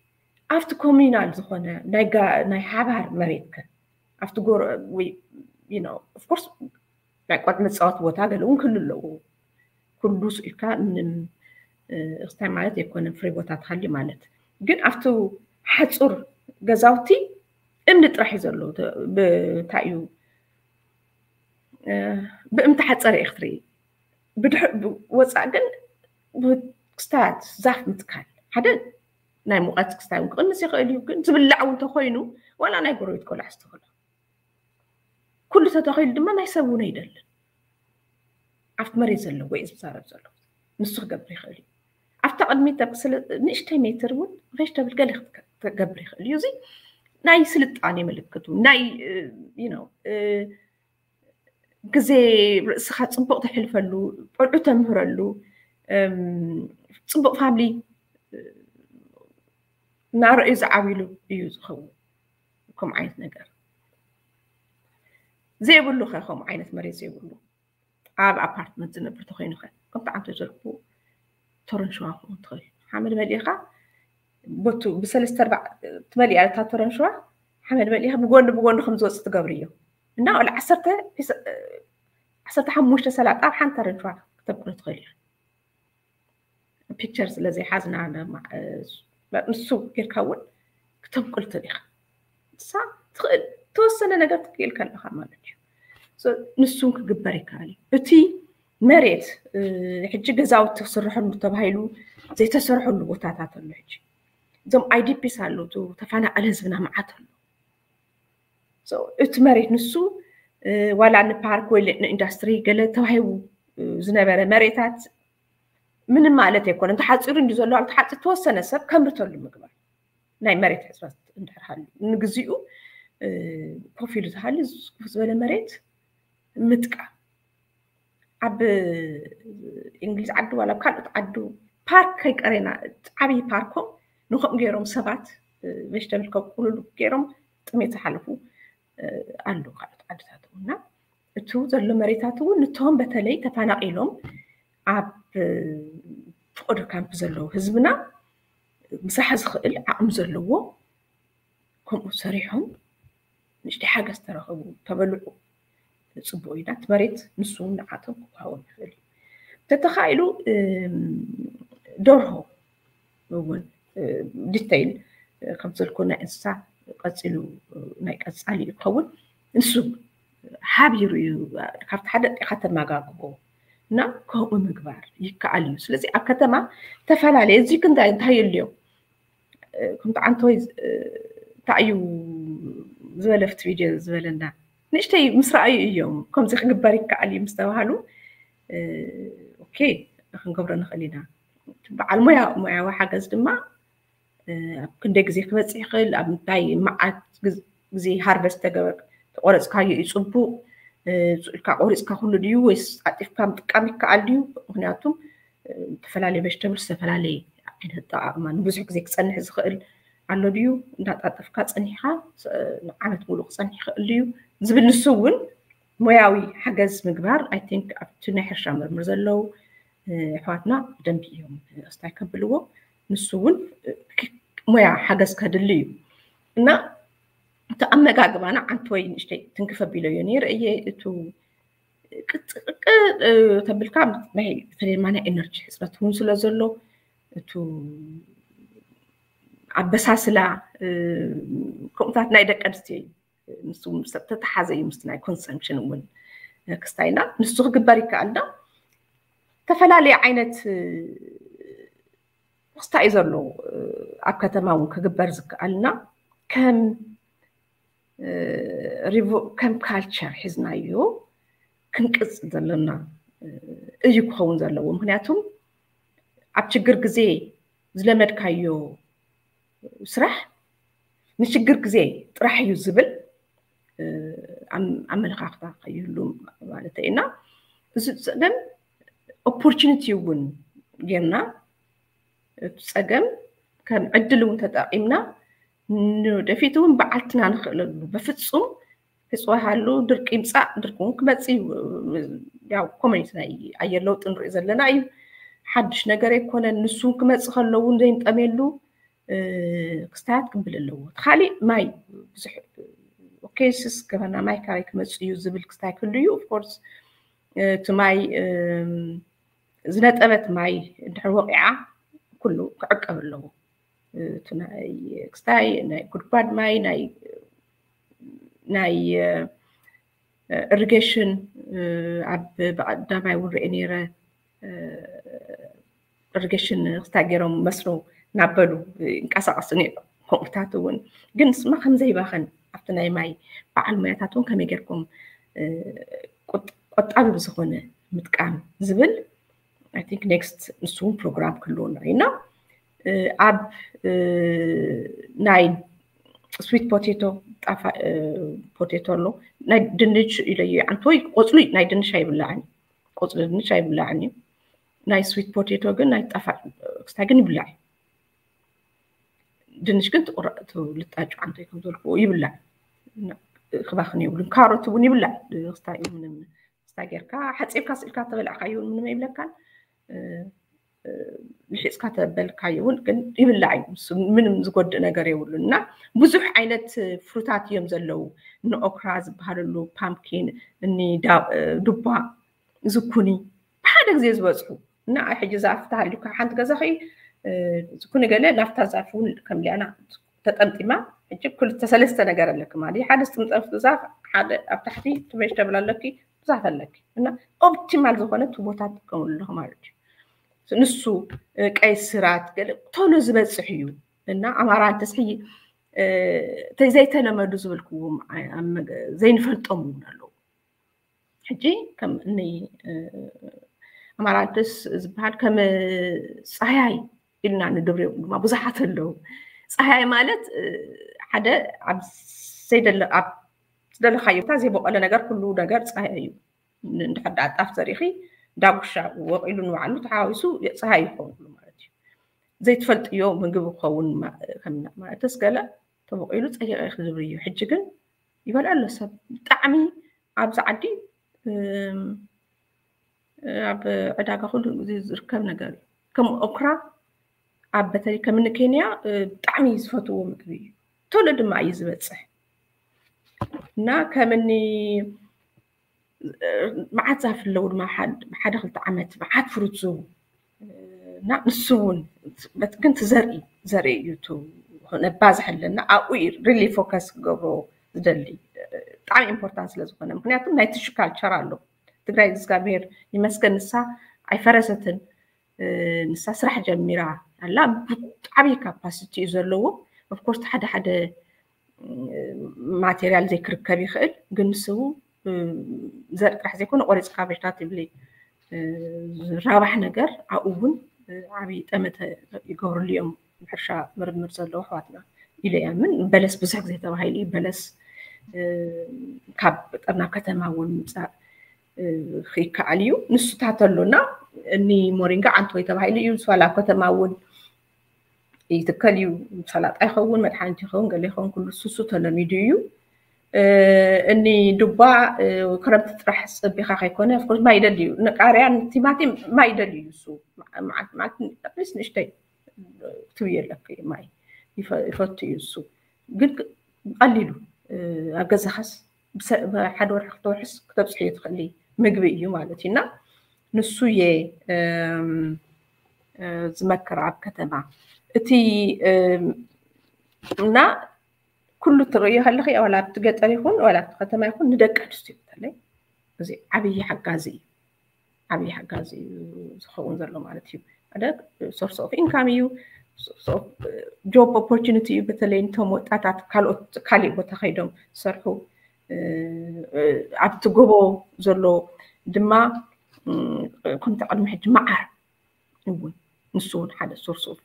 ኣብቲ ኮሚናል ዝኾነ ናይ ሓባር መሬትከ ኣብቲ ጎረ ኦፍኮርስ ናይ ቆልዑ መፃወቲ ቦታ ገለ እውን ክህሉ ኣለዎ። ኩሉ ስኢልካ ምንም ክስታይ ማለት ኣይኮነን ፍሪ ቦታ ትሃሊ ማለት ግን ኣብቲ ሓፁር ገዛውቲ እምኒ ጥራሕ እዩ ዘሎ። ብእንታይ እዩ ብእምቲ ሓፀረ ኢኽትርኢ ብድሕ ወፃእ ግን ክስታያት ዛፍ ምትካል ሓደ ናይ ሙቐት ክስታይ እውን ክቕንስ ይኽእል እዩ። ግን ዝብላዕ እውን ተኮይኑ ዋላ ናይ ጎረቤት ቆልዓ ዝተኽሎ ኩሉ ተተኺሉ ድማ ናይ ሰብ እውን ኣይደልን። ኣብቲ መሬት ዘለዎ እዩ ዝዛረብ ዘሎ። ንሱ ክገብር ይኽእል እዩ። ኣብታ ቅድሚት ንእሽተይ ሜትር እውን ቬጅተብል ገለ ክገብር ይኽእል እዩ። እዚ ናይ ስልጣኔ ምልክቱ ናይ ግዜ ርእስኻ ፅቡቕ ተሕልፈሉ ቆልዑ ተምህረሉ ፅቡቕ ፋምሊ እናረእዩ ዝዓብሉ እዩ ዝኸውን። ከምኡ ዓይነት ነገር ዘይብሉ ኸ ከምኡ ዓይነት መሬት ዘይብሉ ኣብ ኣፓርትመንት ዝነብር ተኮይኑ ኸ ከምቲ ዓንተ ዘልኩ ተረንሸዋ ክኸውን ትኽእል ሓመድ መሊእኻ ቦቱ ብሰለስተ ኣርባዕ ትመልእ እያ እታ ተረንሽዋ፣ ሓመድ መሊእካ ብጎኒ ብጎኒ ከም ዝወፅእ ትገብርዮ። እና ወላ ዓሰርተ ፒስ-፣ ዓሰርተ ሓሙሽተ ሰላጣ ኣብ ሓንቲ ተረንሽዋ ክተብቅሎ ትኽእል ኢኻ። ፒክቸር ስለ ዘይሓዝና ድማ፣ እ፣ ንሱ ጌርካ እውን ክተብቅል ትኽእል ኢኻ። ንሳ ትኽእል፣ ተወሰነ ነገር ትክእል ከለኻ ማለት እዩ። So፣ ንሱ እውን ክግበር ይከኣል እዩ። እቲ መሬት፣ እ፣ ሕጂ ገዛውቲ ክስርሐሉ ተባሂሉ ዘይተሰርሐሉ ቦታታት ኣሎ። ሕጂ እዞም ኣይ ዲ ፒስ ኣለዉ፣ እቱ ተፈናቐለ ህዝብና መዓት ኣሎ። So፣ እቲ መሬት ንሱ፣ እ፣ ዋላ ንፓርክ ወይ ንኢንዱስትሪ ገለ ተዋሂቡ፣ እ፣ ዝነበረ መሬታት ምንም ማለት ኣይኮነን። ተሓፂሩ እንዲ ዘሎ፣ ተሓፂሩ ተወሰነ ሰብ ከምርተሉ ምግባር ናይ መሬት ሕፅረት እንድሕር ሃልዩ፣ ንግዚኡ፣ እ፣ ኮፍ ኢሉ ተሃልዩ፣ ዝኩፍ ዝበለ መሬት ምጥቃም። ኣብ እንግሊዝ ዓዲ ዋላ ኣብ ካልኦት ዓዲ ፓርክ ከይቀሬና፣ ዓብዪ ፓርኮም ንኸምኡ ገይሮም ሰባት፣ እ፣ ቬጅተብል ከብቁሉሉ ገይሮም ጥሜት ዝሓለፉ፣ እ፣ ኣለዉ ካልኦት ዓድታት እውን። እና እቱ ዘሎ መሬታት እውን ንቶም በተለይ ተፈናቒሎም ኣብ፣ እ፣ ፍቆዶ ካምፕ ዘለዉ ህዝብና ምስራሕ ዝኽእል ዓቕሚ ዘለዎ ከምኡ ሰሪሖም ንእሽተይ ሓገዝ ተረኸቡ፣ ተበልዑ፣ ጽቡቕ እዩ። ናቲ መሬት ንሱ እውን ንዓቶም ክወሃቦም ይኽእል እዩ። ተተኻኢሉ፣ እም፣ ደርሆ እውን፣ እ፣ ዲቴይል፣ እ፣ ከም ዘልኩ ናይ እንስሳ ቀጺሉ፣ እ፣ ናይ ቀጻሊ እዩ ክኸውን። ንሱ ሓቢሩ እዩ ካብቲ ሓደ ኣጥኢኻ ተመጋግቦ እና ከምኡ ምግባር ይከኣል እዩ። ስለዚ ኣብ ከተማ ተፈላለየ፣ እዚ ክንታይ እንታይ የልዮ? እ፣ ከምቲ ዓንተወይ ዝ-፣ እ፣ እንታይ እዩ ዝበለ ኣብቲ ቪድዮ ዝበለና? ንእሽተይ ምስ ረኣዩ እዮም ከምዚ ክግበር ይከኣል እዩ ምስ ተባሃሉ፣ እ፣ ኦኬ፣ ክንገብሮ ንኽእል ኢና። በዓል ሞያ፣ ሞያዊ ሓገዝ ድማ፣ እ፣ ኣብ ክንደይ ግዜ ክበጽሕ ይኽእል፣ ኣብ ምንታይ መዓት ግዝ-፣ ግዜ ሃርቨስት ተገበር-፣ ተቆረጽካዮ እዩ ጽቡቕ፣ እ፣ ኢልካ ቆሪጽካ ኩሉ ድዩ ወይስ ዓጢፍካ ምጥቃም ይከኣል ድዩ? ምኽንያቱም፣ እ፣ ዝተፈላለየ ቬጅተብል ዝተፈላለየ ዓይነት ኣጠቓቕማ ንብዙሕ ግዜ ክጸንሕ ዝኽእል ኣሎ ድዩ? እንዳጣጠፍካ ጸኒሕካ፣ ስ-፣ ንዓመት ሙሉእ ክጸንሕ ይኽእል ድዩ? ዝብል ንሱ እውን ሞያዊ ሓገዝ ምግባር፣ ኣይ ቲንክ ኣብቲ ናይ ሕርሻ ምርምር ዘለዉ፣ እ፣ ኣሕዋትና ብደንቢ እዮም፣ እ፣ ኣስታይ ከብልዎ። ንሱ እውን፣ እ፣ ክ-፣ ሞያ ሓገዝ ከድሊ እዩ። እና እቲ ኣመጋግባና ዓንተወይ ንእሽተይ ትንክፍ ኣቢለዮ ነይረ እየ። እቱ ቅጥ-፣ ቅጥ-፣ እ፣ ተብልካ ናይ፣ በተለይ ድማ ናይ ኤነርጂ ሕፅረት እውን ስለ ዘሎ፣ እቱ ኣበሳስላ፣ እ፣ ከምኡታት ናይ ደቂ ኣንስትዮ እዩ። ንሱ ምስ ተተሓዘ እዩ ምስቲ ናይ ኮንሰምፕሽን እውን፣ እ፣ ክስታይና ንሱ ክግበር ይከኣል ዶ? ዝተፈላለየ ዓይነት፣ እ፣ ክስታይ እዩ ዘሎ፣ እ፣ ኣብ ከተማ እውን ክግበር ዝከኣልና ከም፣ እ፣ ሪቮ-፣ ከም ካልቸር ሒዝናዮ ክንቅጽል ዘለና፣ እ፣ እዩ ክኸውን ዘለዎ። ምኽንያቱም ኣብ ችግር ግዜ ዝለመድካዮ ስራሕ ንችግር ግዜ ጥራሕ እዩ ዝብል፣ እ፣ ኣም-፣ ኣመለኻኽታ ከይህሉ ማለት እዩ። እና እዚ ጸገም ኦፖርቹኒቲ እውን ጌርና፣ እቲ ጸገም ከም ዕድል እውን ተጠቒምና ንወደፊት እውን በዓልትና ንኽእለሉ። በፍጹም ሕጽዋ ሃሉ ድርቂ ይምጻእ፣ ድርቂ እውን ክመጽእ እዩ። ያው ኮሚኒቲ ናይ ኣየር ለውጢ ንርኢ ዘለና እዩ። ሓድሽ ነገር ኣይኮነን። ንሱ እውን ክመጽእ ከሎ እውን ዘይንጠምየሉ፣ እ፣ ክስታያት ክብል ኣለዎ። እቲ ካሊእ ማይ ብዙሕ፣ ኦኬ፣ ስስ ገበና ማይ ካበይ ክመጽእ እዩ ዝብል ክስታይ ክህሉ እዩ። ኦፍ ኮርስ፣ እ፣ እቲ ማይ፣ እም፣ ዝነጠበት ማይ እንድሕር ወቂዓ ኩሉ ክዕቀብ ኣለዎ። እ፣ እቲ ናይ ክስታይ፣ ናይ ጉድጓድ ማይ፣ ናይ፣ ናይ፣ እ፣ ኢሪጌሽን፣ እ፣ ኣብ ብቐዳማይ እውን ርኤ ነይረ፣ እ፣ ኢሪጌሽን ክስታይ ገይሮም መስኖ እናበሉ ይንቀሳቐሱ ነይሮም። ከምኡታት እውን ግን ስማ ከም ዘይባኸን ኣብቲ ናይ ማይ በዓል ሞያታት እውን ከመይ ጌርኩም፣ እ፣ ቁጥ-፣ ቆጣቢ ብዝኾነ ምጥቃም ዝብል፣ ኣይ ቲንክ ኔክስት ንሱ እውን ፕሮግራም ክህልወና እዩ። እና፣ እ፣ ኣብ፣ እ፣ ናይ ስዊት ፖቴቶ፣ ጣፋ-፣ እ፣ ፖቴቶ ኣሎ፣ ናይ ድንች ኢለዮ፣ ዓንተወይ ቆጽሊ ናይ ድንች ኣይብላዕን እዩ። ቆጽሊ ድንች ኣይብላዕን እዩ። ናይ ስዊት ፖቴቶ ግን ናይ ጣፋጭ ክስታይ ግን ይብላዕ እዩ። ድንች ግን ትቁረ-፣ እቲ ልጣጩ ዓንተወይ ከም ዘልክዎ ይብላዕ። እና ክባኽን የብሉን። ካሮት እውን ይብላዕ። ክስታይ ምንም፣ ክስታይ ጌርካ ሓጺብካ ስኢልካ ተበላዕካዮ እውን ምንም ኣይብለካን። እ፣ ልሒፅካ ተበልካዮ እውን ግን ይብላዕ እዩ። ምንም ዝጎድእ ነገር የብሉን። እና ብዙሕ ዓይነት ፍሩታት እዮም ዘለዉ። ንኦክራ ዝበሃለሉ፣ ፓምኪን፣ እኒ ዱባ፣ ዝኩኒ ብሓደ ግዜ ዝበፅሑ። እና ሕጂ ዛፍ ተሃልዩካ ሓንቲ ገዛ ኸ ዝኩኒ ገለ ናብታ ዛፍ እውን ከምሊኣና ተጠምጢማ። ሕጂ ክልተ ሰለስተ ነገር ኣለኪ ማለት እዩ። ሓደ ዝጥምጠም ዛፍ፣ ሓደ ኣብ ታሕቲ ትመሽ ተብል ኣለኪ፣ ዛፍ ኣለኪ። እና ኦፕቲማል ዝኾነ ቦታ ትጥቀምሉ ኣለኹ ማለት እዩ። ንሱ ቀይ ስራት ገለ ቶሎ ዝበፅሕ እዩ። እና ኣማራንተስ ሕጂ ዘይተለመዱ ዝበልክዎም ዘይንፈልጦም እውን ኣለዉ። ሕጂ ከም እኒ ኣማራንተስ ዝበሃል ከም ፀሃይ ኢልና ንድብርዮም ድማ ብዙሓት ኣለዉ። ፀሃይ ማለት ሓደ ኣብ ዘይደለ ኣብ ዝደለካዮ ቦታ ዘይበቆለ ነገር፣ ኩሉ ነገር ፀሃይ እዩ። እንድሕር ደኣ ጣፍ ዘሪእኺ ዳጉሻ ወቂሉ ንባዕሉ ተሓዋዊሱ ፀሃይ ይኸውን ኩሉ ማለት እዩ። ዘይትፈልጥዮ ምግቢ ክኸውን ማለትስ ገለ ተበቂሉ ፀይቐ ክዝብር እዩ። ሕጂ ግን ይበልዖ ኣሎ ሰብ ብጣዕሚ ኣብዚ ዓዲ ኣብ ዕዳጋ ኩሉ ግዜ ዝርከብ ነገር እዩ። ከም ኦክራ ኣብ በተለይ ከም ንኬንያ ብጣዕሚ ዝፈትዎ ምግቢ እዩ። ቶሎ ድማ እዩ ዝበፅሕ እና ከምኒ መዓት ዛፍ ኣለዉ ድማ ሓደ ክልተ ዓመት መዓት ፍሩት ዝህቡ እና ንሱ እውን ግን ትዘርኢ ዘርኢ እዩ ነባዝሕ ኣለና ኣብኡ ሪሊ ፎከስ ክገብሮ ዝደሊ ብጣዕሚ ኢምፖርታንት ስለ ዝኾነ፣ ምክንያቱም ናይ ትሹ ካልቸር ኣሎ። ትግራይ እግዚኣብሔር ይመስገን ንሳ ኣይፈረሰትን። ንሳ ስራሕ ጀሚራ ኣላ። ዓብዪ ካፓሲቲ እዩ ዘለዎ። ኦፍኮርስ ሓደ ሓደ ማቴሪያል ዘይክርከብ ይኽእል፣ ግን ንሱ ዘርኢ ጥራሕ ዘይኮነ ቆሪፅካ በሽታ ትብሊ ዝራባሕ ነገር ኣብኡ እውን ዓብዪ ጠመተ ይገብርሉ እዮም ሕርሻ ምርምር ዘለዉ ኣሕዋትና ኢለ እያምን። በለስ ብዙሕ ግዜ ተባሂሉ እዩ። በለስ ካብ ገጠር ናብ ከተማ እውን ምምፃእ ይከኣል እዩ። ንሱታት ኣሎ እና እኒ ሞሪንጋ ዓንተወይ ተባሂሉ እዩ ዝፈላ ኣብ ከተማ እውን ይትከል እዩ። ሰላጣ ይኸውን፣ መድሓኒት ይኸውን፣ ገለ ይኸውን፣ ኩሉ ሱሱ ተለሚዱ እዩ። እኒ ዱባ ክረምቲ ጥራሕ ፀቢኻ ከይኮነ ኦፍኮርስ ማይ ይደሊ እዩ። ንቃርያ ንቲማቲም ማይ ይደሊ እዩ። እሱ መዓልቲ መዓልቲ ኣትሊስት ንእሽተይ ትብዮ ኣለኪ ማይ ይፈቱ እዩ። እሱ ግን ቀሊሉ ኣብ ገዛኻስ ብሓደ ወርሒ ክልተ ወርሕስ ክተብፅሕዮ ትኽእሊ ምግቢ እዩ ማለት እዩ። እና ንሱ እየ ዝመክር ኣብ ከተማ እቲ እና ኩሉ ትርእዮ ከለኺ ዋላ ኣብቲ ገጠር ይኹን ዋላ ኣብቲ ከተማ ይኹን ንደቂ ኣንስትዮ በተለይ እዚ ዓብዪ ሓጋዚ እዩ። ዓብዪ ሓጋዚ እዩ ዝኸውን ዘሎ ማለት እዩ። ሓደ ሶርስ ኦፍ ኢንካም እዩ፣ ጆብ ኦፖርቹኒቲ እዩ። በተለይ ንቶም ወጣታት ካልኦት ካሊእ ቦታ ከይዶም ዝሰርሑ ኣብቲ ጎቦ ዘሎ ድማ ከምቲ ቅድሚ ሕጂ መዓር እውን ንሱ እውን ሓደ ሶርስ ኦፍ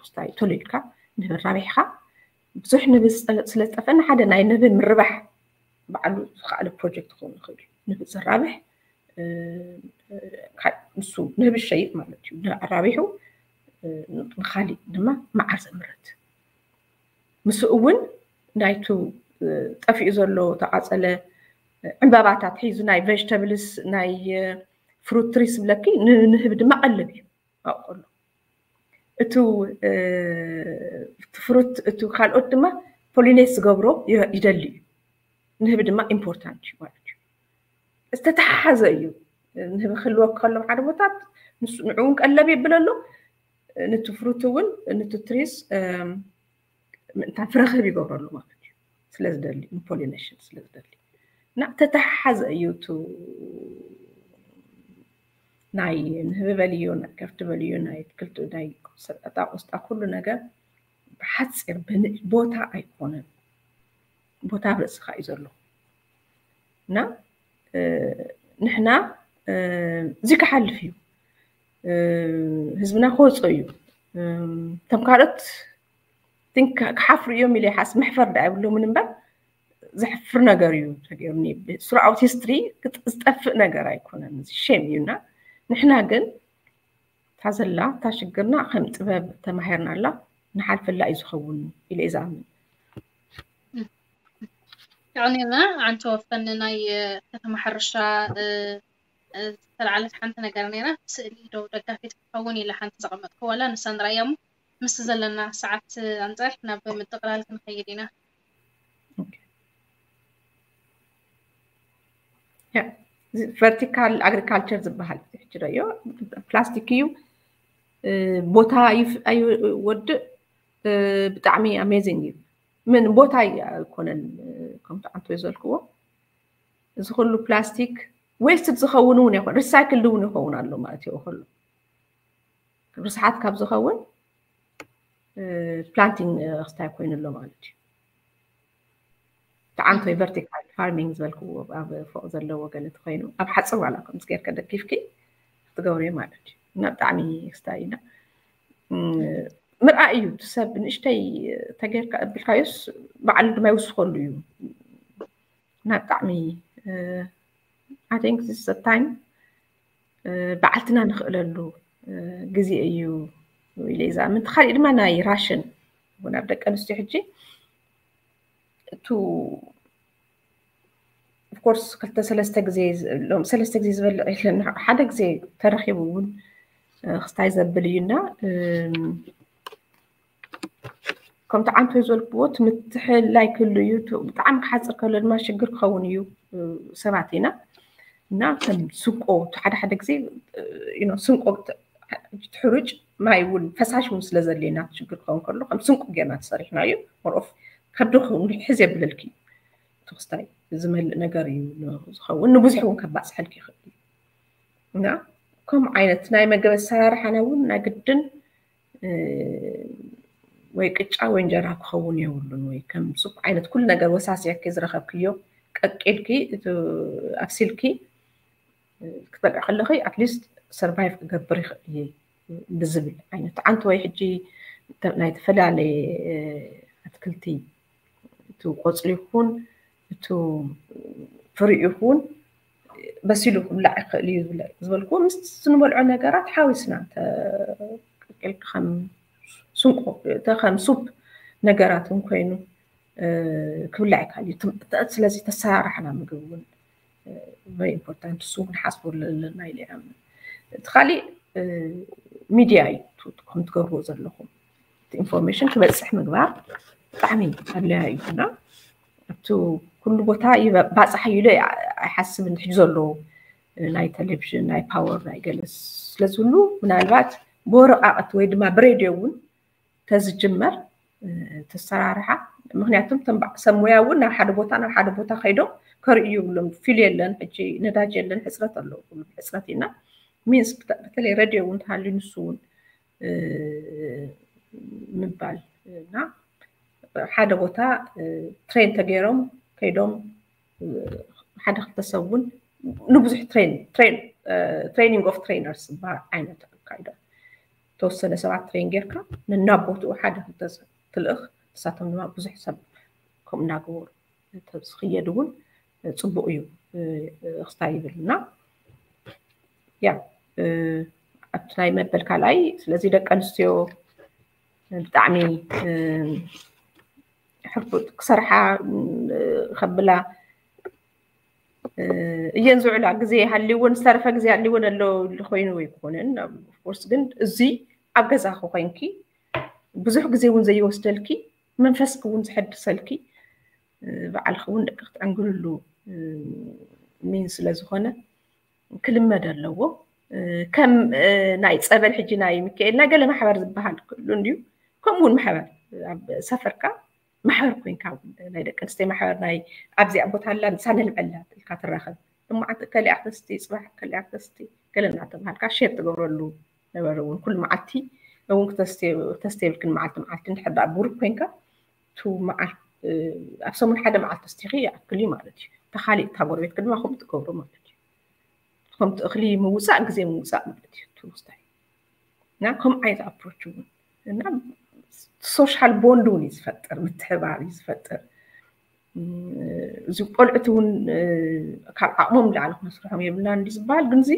ስታይ ቶሎ ኢልካ ንህቢ ራቢሕካ ብዙሕ ንህቢ ስለዝጠፈና ሓደ ናይ ንህቢ ምርባሕ ባዕሉ ዝኸኣለ ፕሮጀክት ክኸውን ይኽእል እዩ። ንህቢ ዘራብሕ ንሱ ንህቢ ሸይጥ ማለት እዩ። ኣራቢሑ ንካሊእ ድማ መዓር ዘምርት ምስኡ እውን ናይቱ ጠፊኡ ዘሎ ተቃፀለ ዕምባባታት ሒዙ ናይ ቬጅተብልስ ናይ ፍሩት ትሪስ ብለኪ ንህቢ ድማ ቀልብ እዩ ኣብቆሎ እቱ ፍሩት እቱ ካልኦት ድማ ፖሊኔት ዝገብሮ ይደሊ እዩ። ንህቢ ድማ ኢምፖርታንት እዩ ማለት እዩ። ዝተተሓሓዘ እዩ። ንህቢ ክህልወ ከሎ ሓደ ቦታት ንዕውን ቀለብ የብለሉ፣ ንቱ ፍሩት እውን ንቱ ትሪስ ምእንታን ፍረክብ ይገብረሉ ማለት እዩ። ስለዝደሊ ንፖሊኔሽን ስለዝደሊ እና ተተሓሓዘ እዩ። ቱ ናይ ንህቢ በልዩ ናይ ከፍቲ በልዩ ናይ ኣትክልቲ ናይ ሰጣ ቆስጣ ኩሉ ነገር ብሓፂር ብንእሽ ቦታ ኣይኮነን። ቦታ ኣብ ርእስኻ እዩ ዘሎ እና ንሕና እዚ ክሓልፍ እዩ። ህዝብና ክወፅኦ እዩ። እቶም ካልኦት ክሓፍሩ እዮም ኢለ ይሓስ መሕፈር ዳ ይብሎምን እምበር ዘሕፍር ነገር እዩ ተገይሩኒ። ስሩኣውት ሂስትሪ ዝጠፍእ ነገር ኣይኮነን። ሼም እዩና ንሕና ግን እታ ዘላ እታ ሽግርና ከም ጥበብ ተማሂርናላ ንሓልፈላ እዩ ዝኸውን ኢለ እዩ ዝኣምን። የዕኒና ዓንተ ወፈኒ ናይ ከተማ ሕርሻ ዝተለዓለት ሓንቲ ነገር ነይራ። ስእሊ ዶ ደጋፊት ክትኸውን ኢለ ሓንቲ ዘቐመጥኩ ዋላ ንሳ ንረኣያ እሞ፣ ምስቲ ዘለና ሰዓት ኣንጻር ናብ ምጥቕላል ክንኸይድ ኢና። ቨርቲካል ኣግሪካልቸር ዝበሃል ሕጂ ዶ እዩ ፕላስቲክ እዩ። ቦታ ኣይወድእ። ብጣዕሚ ኣሜዚንግ እዩ። ምን ቦታ ኣይኮነን ከምቲ ኣንቶይ ዘልክዎ፣ እዚ ኩሉ ፕላስቲክ ዌስት ዝኸውን እውን ይኾን፣ ሪሳይክል እውን ይኸውን ኣሎ ማለት እዩ። ኩሉ ርስሓት ካብ ዝኸውን ፕላንቲንግ ክስታይ ኮይኑ ኣሎ ማለት እዩ። ተዓንቶይ ቨርቲካል ፋርሚንግ ዝበልክዎ ኣብ ፎቕ ዘለዎ ገለ ተኮይኑ ኣብ ሓፂር ዋላ ከምዚ ጌርካ ደጊፍኪ ክትገብርዮ ማለት እዩ። እና ብጣዕሚ ክስታይ ኢና ምርኣይ እዩ። እቲ ሰብ ንእሽተይ ተጌርካ እብልካዮስ ባዕሉ ድማ ይውስኸሉ እዩ። እና ብጣዕሚ I think this is a time ባዕልትና ንኽእለሉ ግዜ እዩ ኢለ እዛ ምንቲ። ካሊእ ድማ ናይ ራሽን እውን ኣብ ደቂ ኣንስትዮ ሕጂ እቱ ኦፍኮርስ ክልተ ሰለስተ ግዜ ሰለስተ ግዜ ዝበልዕ የለን። ሓደ ግዜ ተረኪቡ እውን ክስታይ ዘብል እዩና ከምቲ ዓንቶይ ዘልክዎ ትምትሕላይ ክህሉ እዩ። ብጣዕሚ ክሓፅር ከሎ ድማ ሽግር ክኸውን እዩ። ሰባት ኢና እና ከም ስንቆ ሓደ ሓደ ግዜ ስንቆ ትሕሩጭ ማይ እውን ፈሳሽ እውን ስለ ዘድልየና ሽግር ክኸውን ከሎ ከም ስንቆ ጌርና ተሰሪሕና እዩ። ሞርኦፍ ከብዲ ሕዝ የብለልኪ እዩ ትክስታይ ዝመልእ ነገር እዩ ዝኸውን። ንብዙሕ እውን ከባፅሐልኪ ይኽእል እዩ እና ከምኡ ዓይነት ናይ መገብ ኣሰራርሓና እውን ናይ ግድን ወይ ቅጫ ወይ እንጀራ ክኸውን የብሉን። ወይ ከም ሱፕ ዓይነት ኩሉ ነገር ወሳሲያኪ ዝረኸብክዮ ቀቂልኪ ኣብሲልኪ ክትበልዕ ከለኺ ኣትሊስት ሰርቫይቭ ክገብር ይኽእል እየ ብዝብል ዓይነት ዓንተ ወይ ሕጂ ናይ ዝተፈላለየ ኣትክልቲ እቲ ቆፅሊ ይኹን እቲ ፍሪኡ ይኹን በሲሉ ክብላዕ ይኽእል እዩ ዝበልኩ ምስ ንበልዖ ነገራት ሓዊስና ከም ስንቆ ከም ሱፕ ነገራት እውን ኮይኑ ክብላዕ ይካል እዩ። ስለዚ ተሰራርሕና ምግቢ እውን ቨሪ ኢምፖርታንት እሱ እውን ሓስቦ ኣለና ኢለ ይኣምን። እቲ ካሊእ ሚድያ እዩ ከም ትገብርዎ ዘለኹም ኢንፎርሜሽን ክበፅሕ ምግባር ብጣዕሚ ኣድላያ እዩ እና ኣብቲ ኩሉ ቦታ ባፃሕ እዩ ኢለ ኣይሓስብን። ሕጂ ዘሎ ናይ ቴሌቪዥን ናይ ፓወር ናይ ገለ ስለዝህሉ ምናልባት ብወረቃቅቲ ወይ ድማ ብሬድዮ እውን ተዝጅመር ተሰራርሓ። ምክንያቱም ሰብ ሙያ እውን ናብ ሓደ ቦታ ናብ ሓደ ቦታ ከይዶም ከርእዩ ይብሎም ፊል የለን። ሕጂ ነዳጅ የለን ሕፅረት ኣለዉ ሕፅረት ኢና ሚንስ በተለይ ሬድዮ እውን ተሃልዩ ንሱ እውን ምባል እና ሓደ ቦታ ትሬን ተገይሮም ከይዶም ሓደ ክልተ ሰብ እውን ንብዙሕ ትሬኒንግ ኦፍ ትሬነርስ ዝበሃል ዓይነት ኣካይዳ ተወሰነ ሰባት ትሬን ጌርካ ነናብ ቦትኡ ሓደ ክልተ ሰብ ትልእኽ ንሳቶም ድማ ብዙሕ ሰብ ከምኡ እናገበሩ ዝኽየድ እውን ፅቡቅ እዩ ክስታይ ይብል እና ያ ኣብቲ ናይ መበል ካልኣይ ስለዚ ደቂ ኣንስትዮ ብጣዕሚ ሕርቡጥ ክሰርሓ ከብላ እየን ዝውዕላ ግዜ ሃልይውን ዝተረፈ ግዜ ሃልይውን ኣሎ ኮይኑ ኣይኮነን። ኦፍኮርስ ግን እዚ ኣብ ገዛኺ ኮይንኪ ብዙሕ ግዜ እውን ዘይወስደልኪ መንፈስኪ እውን ዘሐድሰልኪ ባዕልኪ እውን ደቂ ክትዕንግልሉ ሚን ስለ ዝኾነ ክልመድ ኣለዎ። ከም ናይ ፀበል ሕጂ ናይ ሚካኤል ናይ ገለ ማሕበር ዝበሃል ክህሉ እንድዩ። ከምኡ እውን ማሕበር ኣብ ሰፈርካ ማሕበር ኮይንካ ናይ ደቂ ኣንስትዮ ማሕበር ናይ ኣብዚኣ ቦታ ኣላ ንሳ ነልመላ ኢልካ ትራኸብ። ልማዓት ከሊኣ ክተስቲ ፅባሕ ከሊኣ ክተስቲ ገለ እናተባሃልካ ሼር ትገብረሉ ነበረ እውን ኩሉ መዓልቲ እውን ክተስቲ የብልክን መዓልቲ መዓልቲ እንድሕር ደኣ ብሩክ ኮይንካ ቱ መዓልቲ ኣብ ሰሙን ሓደ መዓልቲ ተስቲኺ ይኣክል እዩ ማለት እዩ። ተኻሊእ እታ ጎረቤትኪ ድማ ከምኡ ትገብሮ ማለት እዩ። ከምቲ እኽሊ ምውፃእ ግዜ ምውፃእ ማለት እዩ ትውስታይ እና ከም ዓይነት ኣፕሮች እውን እና ሶሻል ቦንድ እውን እዩ ዝፈጥር ምትሕባር እዩ ዝፈጥር። እዚ ቆልዑት እውን ካብ ዓቕሞም ላዕሊ ክነስርሖም የብልና እንዲ ዝበሃል ግን እዚ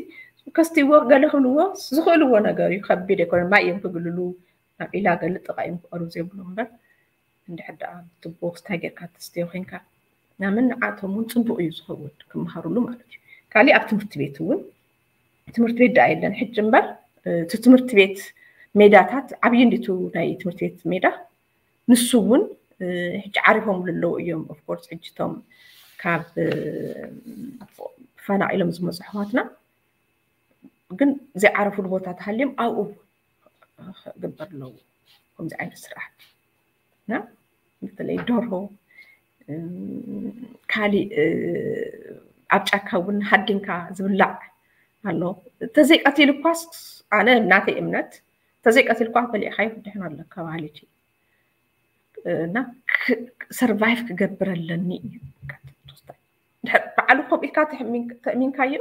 ከስትይዎ ገለ ክብልዎ ዝኽእልዎ ነገር እዩ። ከቢድ ኣይኮነ ማይ እዮም ክግልሉ ናብ ዒላ ገለ ጥቓ እዮም ክቐርቡ ዘይብሉ እምበር እንድሕር ደኣ ብትቦ ክስታይ ጌርካ ተስትዮ ኮይንካ ናምን ንዓቶም እውን ፅቡቅ እዩ ዝኸውን ክመሃሩሉ ማለት እዩ። ካሊእ ኣብ ትምህርቲ ቤት እውን ትምህርቲ ቤት ደኣ የለን ሕጂ እምበር እቲ ትምህርቲ ቤት ሜዳታት ዓብዪ እንዲቱ ናይ ትምህርቲ ቤት ሜዳ ንሱ እውን ሕጂ ዓሪፎም ኣለዉ እዮም። Of course ሕጂ እቶም ካብ ተፈናቒሎም ዝመፁ ኣሕዋትና ግን ዘይዓረፉሉ ቦታ ተሃልዮም ኣብኡ ክግበር ኣለዎ ከምዚ ዓይነት ስራሕ እና በተለይ ደርሆ ካሊእ ኣብ ጫካ እውን ሃዲንካ ዝብላዕ ኣሎ። ተዘይቀቲሉ እኳስ ኣነ ናተይ እምነት ተዘይቀቲልኳ በሊዕካዮ ክድሕን ኣለካ ባህሊቲ እና survive ክገብር ኣለኒ እዩ። ባዕሉ ከምኡ ኢልካ ተእሚንካዮ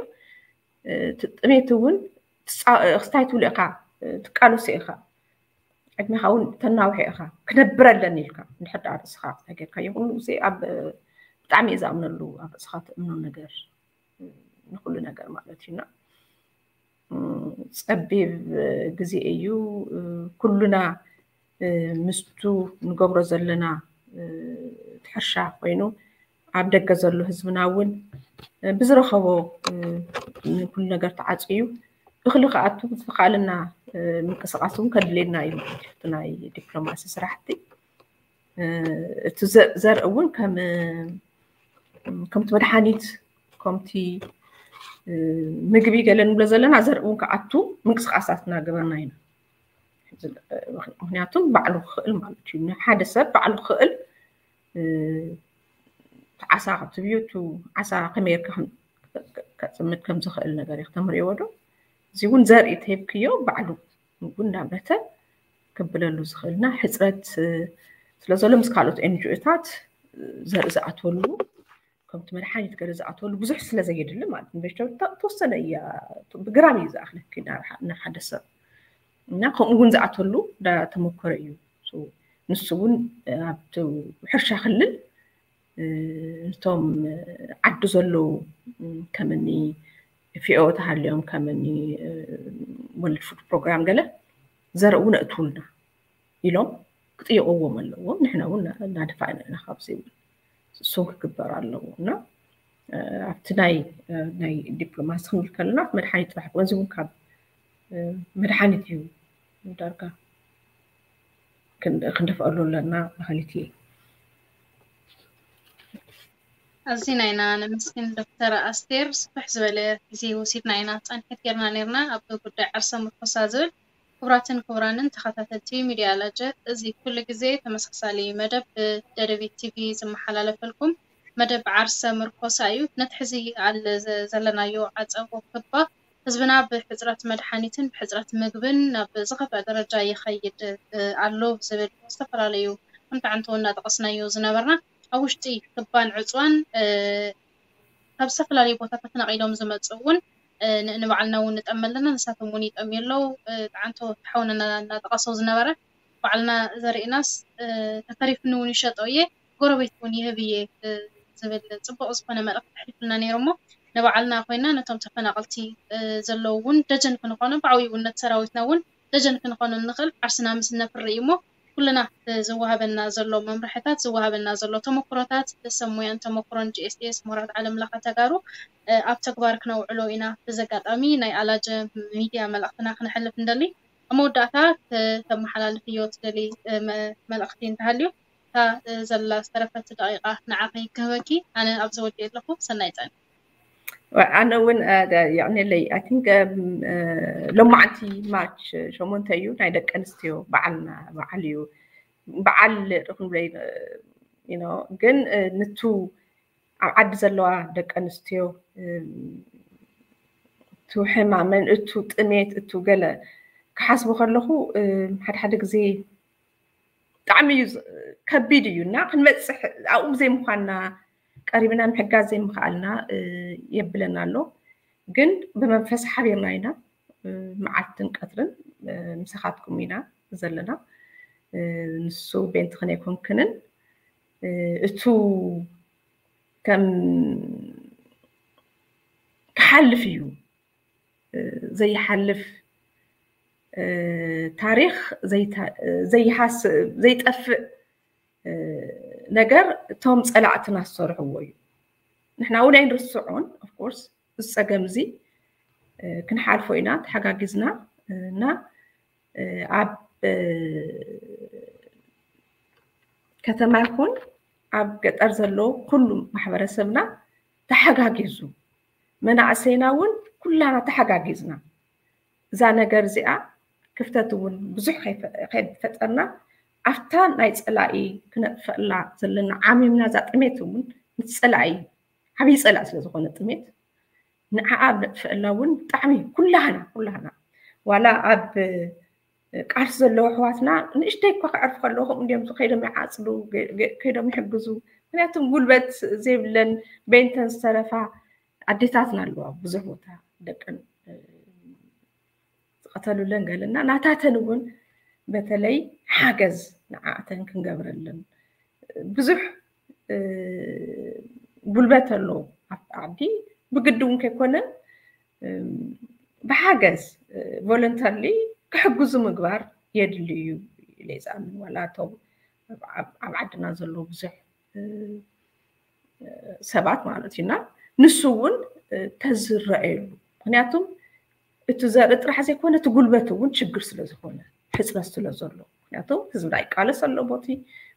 ጥሜት እውን ክስታይ ትብሉ ኢኻ ትቃለሶ ኢኻ ዕድሜኻ እውን ተናውሐ ኢኻ ክነብር ኣለኒ ኢልካ እንድሕር ደኣ ርእስኻ ክስታይ ጌርካዮ ኩሉ ግዜ ኣብ ብጣዕሚ እየ ዝኣምነሉ ኣብ ርእስኻ ትእምኖ ነገር ንኩሉ ነገር ማለት እዩና ጸቢብ ግዜ እዩ ኩሉና ምስቱ ንገብሮ ዘለና ትሕርሻ ኮይኑ ኣብ ደገ ዘሎ ህዝብና እውን ብዝረኸቦ ንኩሉ ነገር ተዓፅዩ እኽሊ ክኣቱ ዝኸኣልና ምንቅስቃስ እውን ከድልየና እዩ ማለት እዩ ናይ ዲፕሎማሲ ስራሕቲ እቲ ዘርኢ እውን ከም ከምቲ መድሓኒት ከምቲ ምግቢ ገለ ንብሎ ዘለና ዘርኢ እውን ክኣቱ ምንቅስቃሳት እናገበርና ኢና ምክንያቱም ባዕሉ ክኽእል ማለት እዩ ንሓደ ሰብ ባዕሉ ክኽእል ዓሳ ትብዩ ዓሳ ከመይ ጌርካ ከፅምድ ከም ዝኽእል ነገር እዩ ክተምርዎ ዶ እዚ እውን ዘርኢ ተሂብክዮ ባዕሉ ምግቡ እንዳምረተ ክብለሉ ዝኽእልና ሕፅረት ስለዘሎ ምስ ካልኦት ኤንጂኦታት ዘርኢ ዝኣተሉ ከምቲ መድሓኒት ገለ ዝኣተሉ ብዙሕ ስለ ዘየድሊ ማለት ኢንቨስተር ተወሰነ እያ ብግራም እዩ ዝኣኽለኪ ንሓደ ሰብ እና ከምኡ እውን ዝኣተሉ ተመኮረ እዩ ንሱ እውን ኣብቲ ሕርሻ ክልል እቶም ዓዲ ዘለዉ ከምኒ ፊኦ ተሃልዮም ከምኒ ወልድ ፉድ ፕሮግራም ገለ ዘርእውን ኣእትውልና ኢሎም ክጥይቕዎም ኣለዎም ንሕና እውን እናደፋእና ኢና ካብዚ እውን እሱን ክግበር ኣለዎ እና ኣብቲ ናይ ናይ ዲፕሎማሲ ክንብል ከለና መድሓኒት ጥራሕ ገንዚ እውን ካብ መድሓኒት እዩ ዳርጋ ክንደፍኣሉ ኣለና በሃሊት እየ ኣዚና ኢና ነመስግን ዶክተር ኣስቴር ስፍሕ ዝበለ ግዜ ወሲድና ኢና ፃንሒት ጌርና ኔርና ኣብ ጉዳይ ዓርሰ ምርኮሳ ዝብል ክቡራትን ክቡራንን ተኸታተልቲ ሚድያ ኣላጀ እዚ ኩሉ ግዜ ተመሳሳሊ መደብ ብደደቢት ቲቪ ዝመሓላለፈልኩም መደብ ዓርሰ ምርኮሳ እዩ ነቲ ሕዚ ኣለ ዘለናዮ ዓፀቦ ክባ ህዝብና ብሕፅረት መድሓኒትን ብሕፅረት ምግብን ናብ ዝኸፍአ ደረጃ ይኸይድ ኣሎ ዝብል ዝተፈላለዩ ኣንታዕንቶ እናጠቐስናዮ ዝነበርና ኣብ ውሽጢ ክባን ዕፅዋን ካብ ዝተፈላለዩ ቦታታት ተፈናቒሎም ዝመፁ እውን ንባዕልና እውን ንጠሚ ኣለና ንሳቶም እውን ይጠምዩ ኣለዉ ጣዕንቶ ተሓውንና እናጠቐሶ ዝነበረ ባዕልና ዘርእናስ ተተሪፍኒ እውን ይሸጦ እየ ጎረቤት እውን ይህብ እየ ዝብል ፅቡቕ ዝኾነ መልእኽቲ ተሕሊፉልና ነይሩ እሞ ንባዕልና ኮይና ነቶም ተፈናቐልቲ ዘለዉ እውን ደጀን ክንኾኖም ብዓብዩ እውን ነቲ ሰራዊትና እውን ደጀን ክንኾኖም ንኽእል ዓርስና ምስ ነፍሪ እዩ እሞ ኩልና ዝወሃበና ዘሎ መምርሕታት ዝወሃበና ዘሎ ተመክሮታት ሰብ ሞያን ተመክሮን ጂኤስኤስ ምሁራት ዓለም ለኸ ተጋሩ ኣብ ተግባር ክነውዕሎ ኢና ብዘጋጣሚ ናይ ኣላጀ ሚድያ መልእኽትና ክነሕልፍ ንደሊ ኣብ መወዳእታ ከተመሓላልፍዮ ትደሊ መልእኽቲ እንተሃልዩ እታ ዘላ ዝተረፈት ደቂቃ ንዓኺ ክህበኪ ኣነ ኣብዚ ወዲእ ኣለኹ ሰናይ ፃኒ ኣነ እውን የዕነለይ I think ሎማዓንቲ ማርች ሸሞንተ እዩ ናይ ደቂ ኣንስትዮ በዓልና በዓል እዩ በዓል ክንብለይ ግን ንቱ ኣብ ዓዲ ዘለዋ ደቂ ኣንስትዮ እቱ ሕማመን እቱ ጥሜት እቱ ገለ ክሓስቡ ከለኹ ሓደ ሓደ ግዜ ብጣዕሚ እዩ ከቢድ እዩ እና ክንበፅሕ ኣብኡ ዘይምኳንና ቀሪብና ምሕጋዝ ዘይምኽኣልና የብለና ኣሎ ግን ብመንፈስ ሓቢርና ኢና መዓልትን ቀትርን ምሳኻትኩም ኢና ዘለና ንሱ ቤንቲ ክነይኮንክንን እቱ ከም ክሓልፍ እዩ ዘይሓልፍ ታሪኽ ዘይጠፍእ ነገር እቶም ፀላእትና ዝሰርሕዎ እዩ ንሕና እውን ኣይንርስዖን of course እዚ ፀገም እዚ ክንሓልፎ ኢና ተሓጋጊዝና እና ኣብ ከተማ ይኹን ኣብ ገጠር ዘሎ ኩሉ ማሕበረሰብና ተሓጋጊዙ፣ መናእሰይና እውን ኩላና ተሓጋጊዝና እዛ ነገር እዚኣ ክፍተት እውን ብዙሕ ከይፈጠርና ኣብታ ናይ ፀላኢ ክነጥፈላ ዘለና ዓሚምና እዛ ጥሜት እውን ምስ ፀላኢ ዓብዪ ፀላኢ ስለ ዝኾነ ጥሜት ንዓኣ ኣብ ነጥፍአላ እውን ብጣዕሚ ኩላህና ኩላህና ዋላ ኣብ ቃልሲ ዘለዉ ኣሕዋትና ንእሽተይ እኳ ክዕርፉ ከለዉ ከምኡ እንዲዮም ከይዶም ይዓፅዱ ከይዶም ይሕግዙ። ምክንያቱም ጉልበት ዘይብለን በይንተን ዝተረፋ ኣዴታትና ኣለዋ ብዙሕ ቦታ ደቀን ዝቐተሉለን ገለና ናታተን እውን በተለይ ሓገዝ ንዓኣተን ክንገብረለን ብዙሕ ጉልበት ኣሎ ኣብቲ ዓዲ ብግዲ እውን ከይኮነ ብሓገዝ voluntarily ክሕግዙ ምግባር የድሊ እዩ ኢለ ዝኣምን ዋላ እቶም ኣብ ዓድና ዘሎ ብዙሕ ሰባት ማለት እዩና ንሱ እውን ተዝረአየሉ ምክንያቱም እቲ ዘርኢ ጥራሕ ዘይኮነ እቲ ጉልበት እውን ችግር ስለ ዝኾነ ሕፅረት ስለ ዘሎ ምክንያቱ ህዝብና ይቃለስ ኣሎ ቦቲ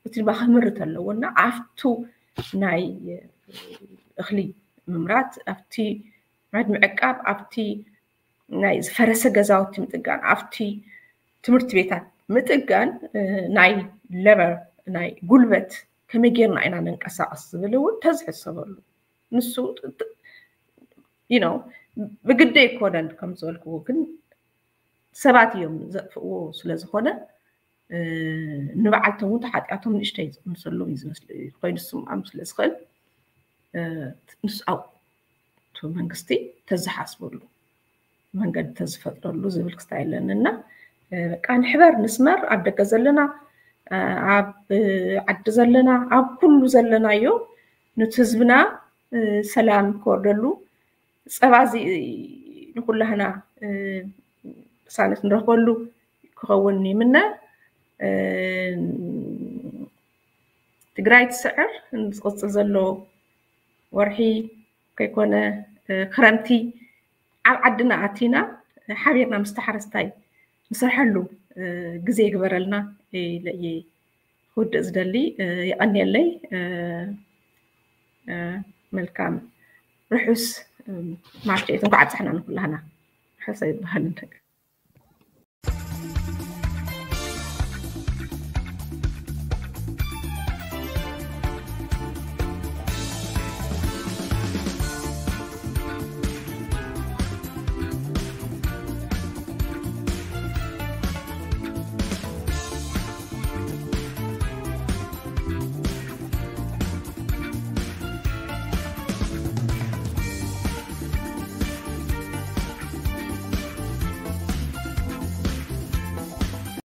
እቲ ድማ ክምርት ኣለዎ እና ኣብቱ ናይ እኽሊ ምምራት ኣብቲ ምዕቃብ ኣብቲ ናይ ዝፈረሰ ገዛውቲ ምጥጋን ኣብቲ ትምህርቲ ቤታት ምጥጋን ናይ ለበር ናይ ጉልበት ከመይ ጌርና ኢና ነንቀሳቀስ ዝብል እውን ተዝሕሰበሉ ንሱ you know ብግዲ ኣይኮነን ከም ዝበልክዎ ግን ሰባት እዮም ዘጥፍእዎ ስለ ዝኾነ ንበዓልቶም እውን ተሓጢኣቶም ንእሽተይ ዝቕንሰሎም እዩ ዝመስል ኮይኑ ስምዖም ስለ ዝኽእል ንስኣው መንግስቲ ተዝሓስበሉ መንገዲ ተዝፈጥረሉ ዝብል ክስታይ ኣለኒ እና በቃ ንሕበር ንስመር ኣብ ደገ ዘለና ኣብ ዓዲ ዘለና ኣብ ኩሉ ዘለናዮ ነቲ ህዝብና ሰላም ክወርደሉ ፀባ እዚ ንኩላህና ቅሳነት ንረኽበሉ ክኸውን ይምነ። ትግራይ ትስዕር ዝቕፅል ዘሎ ወርሒ ከይኮነ ክረምቲ ኣብ ዓድና ኣቲና ሓቢርና ምስ ተሓረስታይ ንሰርሐሉ ግዜ ይግበረልና ኢለ እየ ክውድእ ዝደሊ። የቐንየለይ። መልካም ርሑስ ማርች ኤይት እንኳዕ ኣብፀሐና ንኩላህና። ርሑስ ኣይበሃልን።